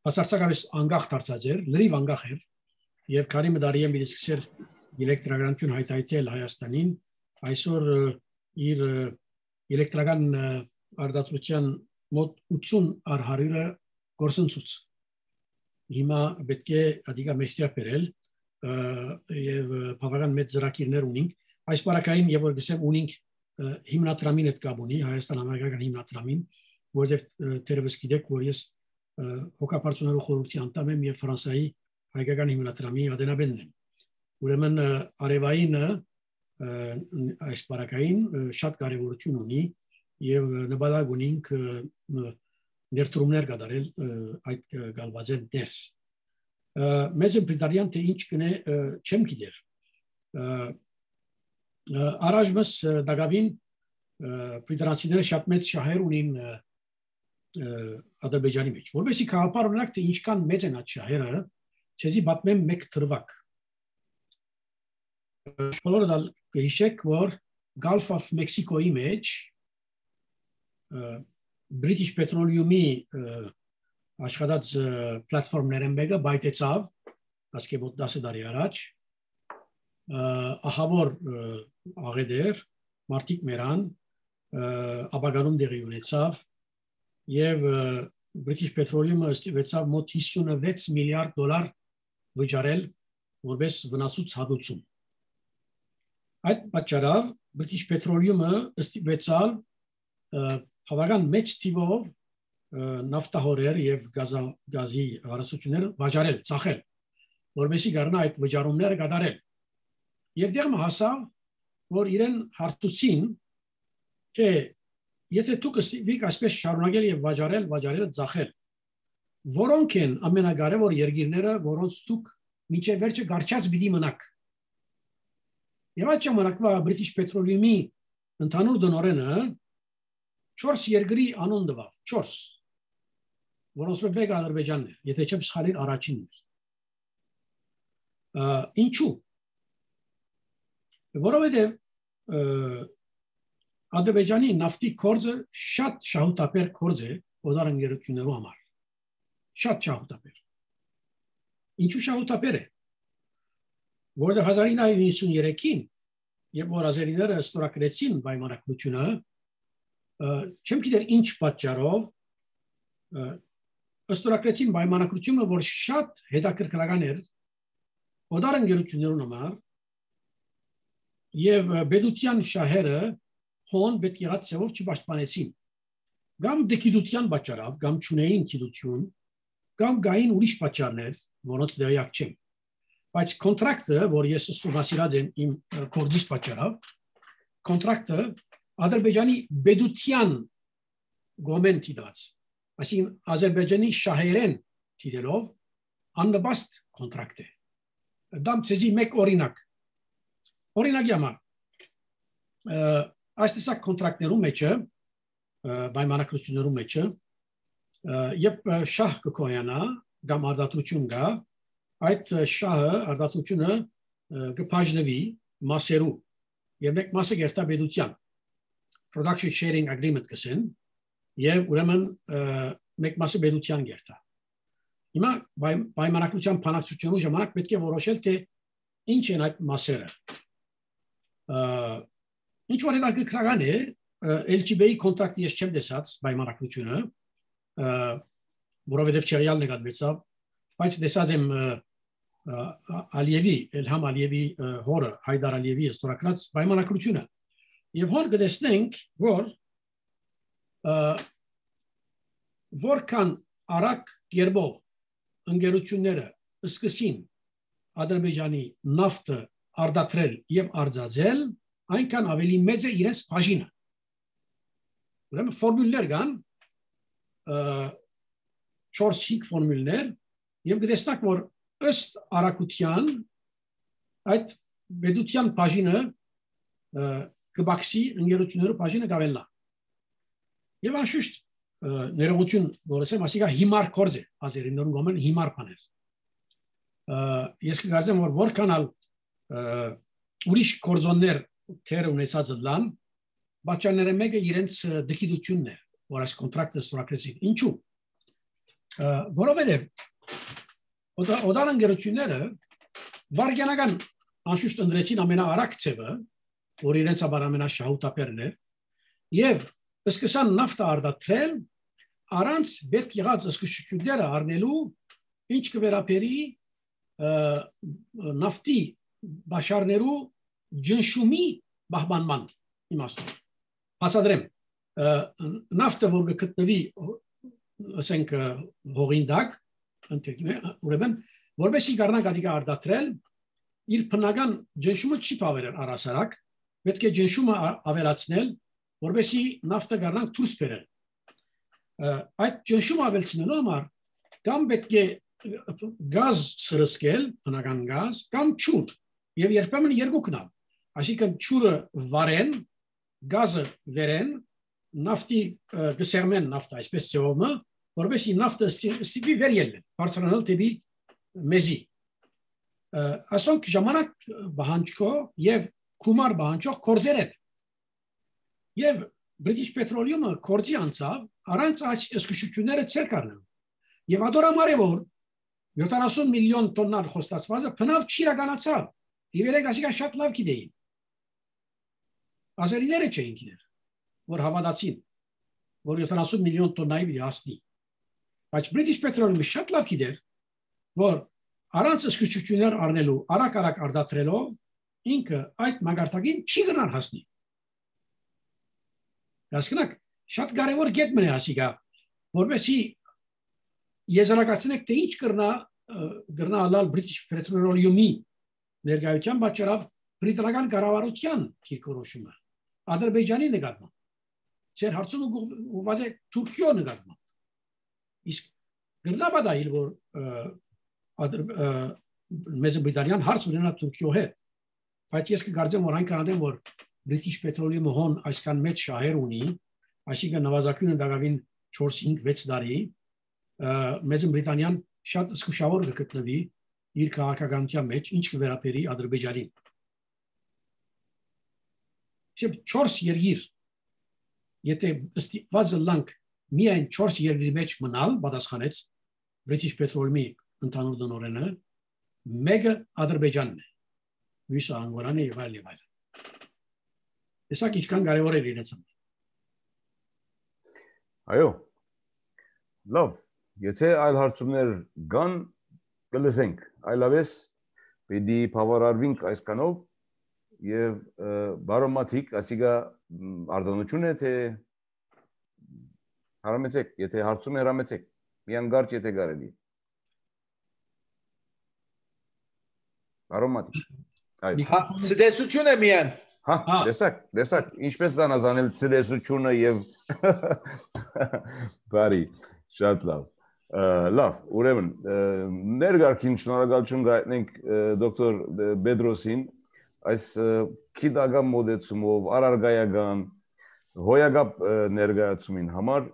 բացարձակապես անկախ դարձած էր, լրիվ անկախ էր եւ քանի մդարի եմ սկսել էլեկտրականություն հայտարարել Հայաստանին, այսօր իր էլեկտրական արտադրության մոտ 80% գործընթաց հիմա պետք է ադիգա մեստիա բերել եւ բավական մեծ ծրագիրներ ունենք այս բարակային եւ որ գսեմ ունենք հիմնադրամին հետ կապ ունի Հայաստան-ամերիկական հիմնադրամին որովհետեւ դերևս գիտեք որ ես հոգապարծուներու խորհրդի անդամ եմ եւ Ֆրանսիայի հայկական հիմնադրամի ադենաբենն եմ ուրեմն արևայինը այս բարակային շատ կարեւորություն ունի եւ նպատակ ունենք ներդրումներ կատարել այդ գալվածեն դերս Մեծ Բրիտանիան թե ինչ կնե չեմ գիտեր Արաժմս դակավին բրիտանացիները շատ մեծ շահեր ունին Ադրբեջանի մեջ որովհետեւ քաղաքապար օրինակ թե ինչքան մեծ են այդ շահերը ցեզի պատմեմ մեկ թրվակ Բոլորը հիշեք որ Gulf of Mexico-ի մեջ British Petroleum-ի աշխատած պլատֆորմներ են մեկը բայտեցավ ասկե մոտ 10 տարի առաջ ահավոր աղեդեր մարտիկ մերան ապագանում դեղի ունեցավ եւ British Petroleum-ը ստիպեցավ մոտ 56 միլիարդ դոլար վճարել որպես վնասուց հատուցում այդ պատճառով British Petroleum-ը ստիպեցավ բավական մեծ թիվով նավթահորեր եւ գազի հարստություններ վաճառել, ծախել, որովհետեւ գարնա այդ վճարումները կատարել։ Եվ դեռ հասավ, որ իրեն հարցուցին, թե եթե դուք ստիպիկ այսպես շարունակել եւ վաճառել, ծախել, որոնք են ամենակարևոր երկիրները, որոնց դուք միջև վերջը գարչած պիտի մնաք։ Եվ այդ ժամանակվա British Petroleum-ի ընդհանուր դնորենը 4 երկրի անուն տվավ, 4 որոնց մեկը Ադրբեջանն էր, եթե չեմ սխալիր առաջինն էր։ Ինչու։ Որովհետև Ադրբեջանի նավթի կորձը շատ շահութաբեր կորձ է օդանավերություններու համար։ Շատ շահութաբեր։ Ինչու շահութաբեր է։ Որովհետև 1993-ին, երբ որ ազերիները ստորագրեցին պայմանագրությունը, չեմ գիտեր ինչ պատճառով ստորագրեցին պայմանագրությունը, որ շատ հետաքրքրական էր օտար ընկերություններուն համար եւ բեդության շահերը հոն պետք եղած ծավով չպաշտպանեցին։ Կամ դեկիդության պատճառով, կամ չունեին գիտություն, կամ գային ուրիշ պատճառներ, որոնց դերյակ չեմ։ Բայց կոնտրակտը, որ ես ուսումնասիրած եմ իմ կորձից պատճառով, կոնտրակտը Ադրբեջանի բեդության գոմենտի դաց, այսինքն Ադրբեջանի շահերեն տիրելով աննպաստ կոնտրակտ է։ Դամ ցեզի մեկ օրինակ։ Օրինակի համար այս տեսակ կոնտրակտներու մեջը պայմանագրություններու մեջը երբ շահ կկոյանա կամ արդարություն գա, այդ շահը արդարությունը կբաժնվի մասերու եւ մեկ մասը գերտաբեդության production sharing agreement կսեն եւ ուրեմն մեկ մասը բեդության գերտա։ Հիմա պայմանագրության փանակցությունու ժամանակ պետք է որոշել թե ինչ են այդ մասերը։ Ինչ որ հետաքրքրական է LGB-ի կոնտրակտի ես չեմ տեսած պայմանագրությունը, որովհետև չերյալ նկատվեցավ, բայց տեսած եմ Ալիևի, Էլհամ Ալիևի հորը, Հայդար Ալիևի ստորագրած պայմանագրությունը։ Եվ հոր կտեսնենք, որքան արագ գերբով ընկերությունները սկսին Ադրբեջանի նավթը արդատրել եւ արձածել, այնքան ավելի մեծ է իրենց բաժինը։ Ուրեմն ֆորմուլներ կան, 4-5 ֆորմուլներ, եւ կտեսնեք, որ ըստ արագության այդ բեդության բաժինը կբացի ընկերությունների բաժինը կավելնա։ Եվ անշուշտ ներողություն, որ ասեմ, ասիկա հիմար կորձ է, ազերիներուն գոմեն հիմար բաներ։ Ես կգործեմ, որ որքանալ ուրիշ կորձոններ թեր ունեցած լան, բաճաները մեկը իրենց դկիդությունն է, որ այս կոնտրակտը ստորագրեցին։ Ինչու՞։ Որովհետև օտար ընկերությունները վարգյանական անշուշտ ընդրեցին ամենաարագ ձևը, որ իրենց համար ամենաշահութապերն է, եւ սկսան նավթը արդատրել առանց պետք եղած զսկուշությունները առնելու, ինչ կվերապերի նավթի բաշարներու ջնշումի բահմանման իմաստով։ Հասադրեմ, նավթը, որ կգտնվի, ասենք, հողին տակ, ուրեմն, որպեսզի կարողանա գադիկա արդատրել, իր բնական ջնշումը չի բավարար առհասարակ, պետք է ջնշումը ավելացնել, որպեսզի նավթը կարողանա դուրս բերել։ Այդ ջնշումը ավելցնելու համար կամ պետք է գազ սրսկել, բնական գազ, կամ ջուր, եւ երբեմն երկուքն ալ։ Այսինքն ջուրը վարեն, գազը վերեն, նավթի գսերմեն նավթը, այսպես ծովը, որպեսզի նավթը ստիպի վեր ելնել, բարձրանալ դեպի մեզի։ Ասոնք ժամանակ բանջկո եւ կումար բանջող կորձեր են։ Եվ British Petroleum-ը կորձի անցավ, առանց այս զսկուշությունները ցեր կառնելու։ Եվ ադորամարե որ 70 միլիոն տոննան խոստացվածը բնավ չիրականացավ։ Իվերեք ասիկա շատ լավ գիտեին։ Ազերիները չէին գիտեր, որ հավատացին, որ 70 միլիոն տոննայի պիտի հասնի։ Բայց British Petroleum-ը շատ լավ գիտեր, որ առանց զսկուշություններ առնելու, արագ արդատրելով, ինքը այդ մագարտակին չի գնար հասնի։ Հասկանաք, շատ կարևոր կետ մնա ասիկա, որպեսզի եզրակացնեք, թե ինչ կրնա ալալ British Petroleum-ի ներկայության պատճառով բրիտանական կառավարության կիրքորոշումը, Ադրբեջանի նկատմամբ, ծեր հարցումը ուղղված է Թուրքիո նկատմամբ։ Իսկ կրնա բադայել, որ Մեծ Բրիտանիան հարց ունենա Թուրքիո հետ, բայց ես կգարձեմ, որ այնքան adem, որ British Petroleum-ը հոն այսքան մեծ շահեր ունի, այսինքն նվազագույնը դակավին 4-5-6 տարի, Մեծ Բրիտանիան շատ զսկուշավոր կգտնվի իր քաղաքականության մեջ, ինչ կվերապերի Ադրբեջանին։ Իսկ 4 երկիր, եթե ստիպված լանք միայն 4 երկրի մեջ մնալ, պատասխանեց British Petroleum-ի ընդհանուր տնօրենը, մեկը Ադրբեջանն է, մյուսը Անգորան է եւ այլն։ Տեսակ ինչքան կարևոր է իրենց համար։ Այո։ Լավ, Եթե այլ հարցումներ կան, կլսենք, այլապես պետք է բավարարվենք այսքանով եւ բարոն Մաթիկ, ասիգա արտոնություն է թե հարամեցեք, եթե հարցում հրամեցեք, միան գարջ եթե կարելի։ Բարոն Մաթիկ։ Ցտեսություն է միան։ Հա, տեսակ, ինչպես զանազանել ցտեսությունը եւ բարի, շատ լավ։ Լավ, ուրեմն ներգարքին շնորհակալություն գտնենք դոկտոր Բեդրոսին այս քիդագամ մոդեցումով արարգայական հոյագապ ներկայացումին համար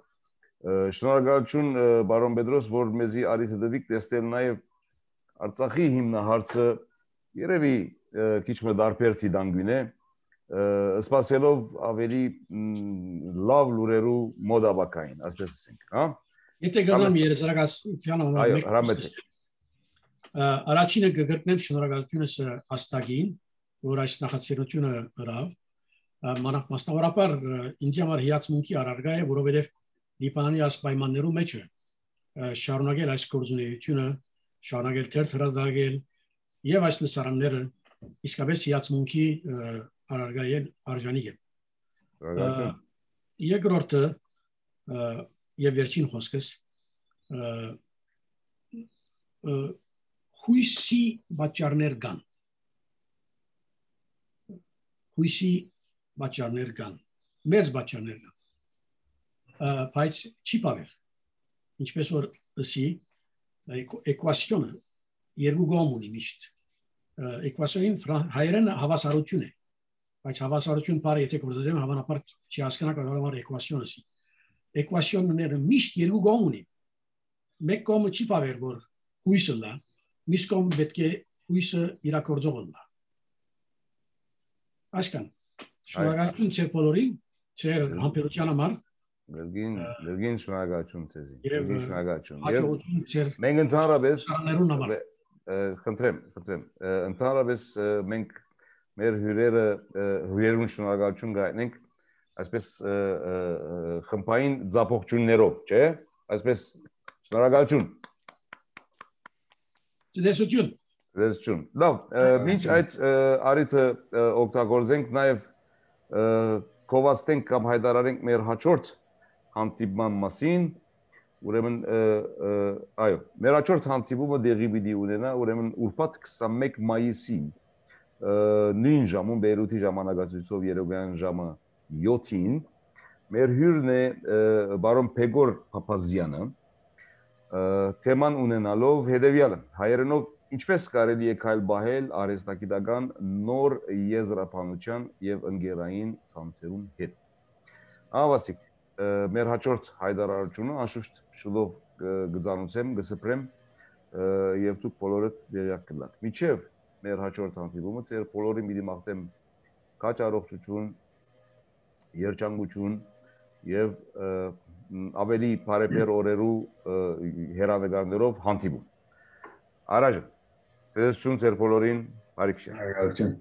շնորհակալություն բարոն Բեդրոս, որ մեզի արիթ դվիկ տեսնել նաեւ Արցախի հիմնահարցը երևի քիչ մը դարբեր դանգուն է սպասելով ավելի լավ լուրերու մոդաբակային, ասես ասենք, հա։ Եթե գնամ երեսարակացության հրամեցեք։ Առաջինը կգտնեմ շնորհակալությունս Աստագին, որ այս նախաձեռնությունը հրավ, մասնավորապես ինձ համար հիացմունքի առարկա է, որովհետև Լիբանանի այս պայմաններում մեջ շարունակել այս գործունեությունը, շարունակել թերթ հրադադել եւ այս լսարանները իսկապես հիացմունքի առարկա են արժանի են։ Երկրորդը եւ վերջին խոսքս հույսի բաճարներ կան։ Հույսի բաճարներ կան, մեծ բաճարներ կան։ Բայց չի բավեր։ Ինչպես որ ասի, էկվացիոնը երկու կողմ ունի միշտ։ Էկվացիոնին հայերեն հավասարություն է։ Բայց հավասարություն բառը եթե գործեմ հավանաբար չի հասկանա կարող է էկվացիոն ասի։ Էկվացիոնները միշտ երկու կողմ ունի։ Մեկ կողմը չի բավեր որ հույսը լա, մյուս կողմը պետք է հույսը իրագործող լա։ Այսքան։ Շնորհակալություն ձեր բոլորին, ձեր համբերության համար։ Գերգին շնորհակալություն ձեզի։ Գերգին շնորհակալություն։ Մենք ընդհանրապես խնդրեմ, ընդհանրապես մենք մեր հյուրերուն շնորհակալություն գտնենք այսպես խմբային ձապողություններով, չէ՞։ Այսպես շնորհակալություն։ Ցտեսություն։ Լավ, մինչ այդ արիթը օգտագործենք նաև կովաստենք կամ հայտարարենք մեր հաջորդ հանդիպման մասին, ուրեմն այո, մեր հաջորդ հանդիպումը դեղի պիտի ունենա, ուրեմն ուրբաթ 21 մայիսի նույն ժամում Բեյրութի ժամանակացույցով երեկոյան ժամը 7-ին մեր հյուրն է բարոն Պեգոր Փափազյանը թեման ունենալով հետևյալը հայերենով ինչպես կարելի է քայլ բահել արհեստագիտական նոր եզրափանության եւ ընկերային ցանցերուն հետ ավասիկ մեր հաջորդ հայտարարությունը անշուշտ շուտով կզանուցեմ կսպրեմ եւ դուք բոլորդ դերյակ կլաք միջև մեր հաջորդ հանդիպումը ձեր բոլորին մի մաղթեմ քաջ առողջություն երջանկություն եւ ավելի բարեբեր օրերու հերավեգարներով հանդիպում Արաժ Ցեզություն ձեր բոլորին բարիք շնորհակալություն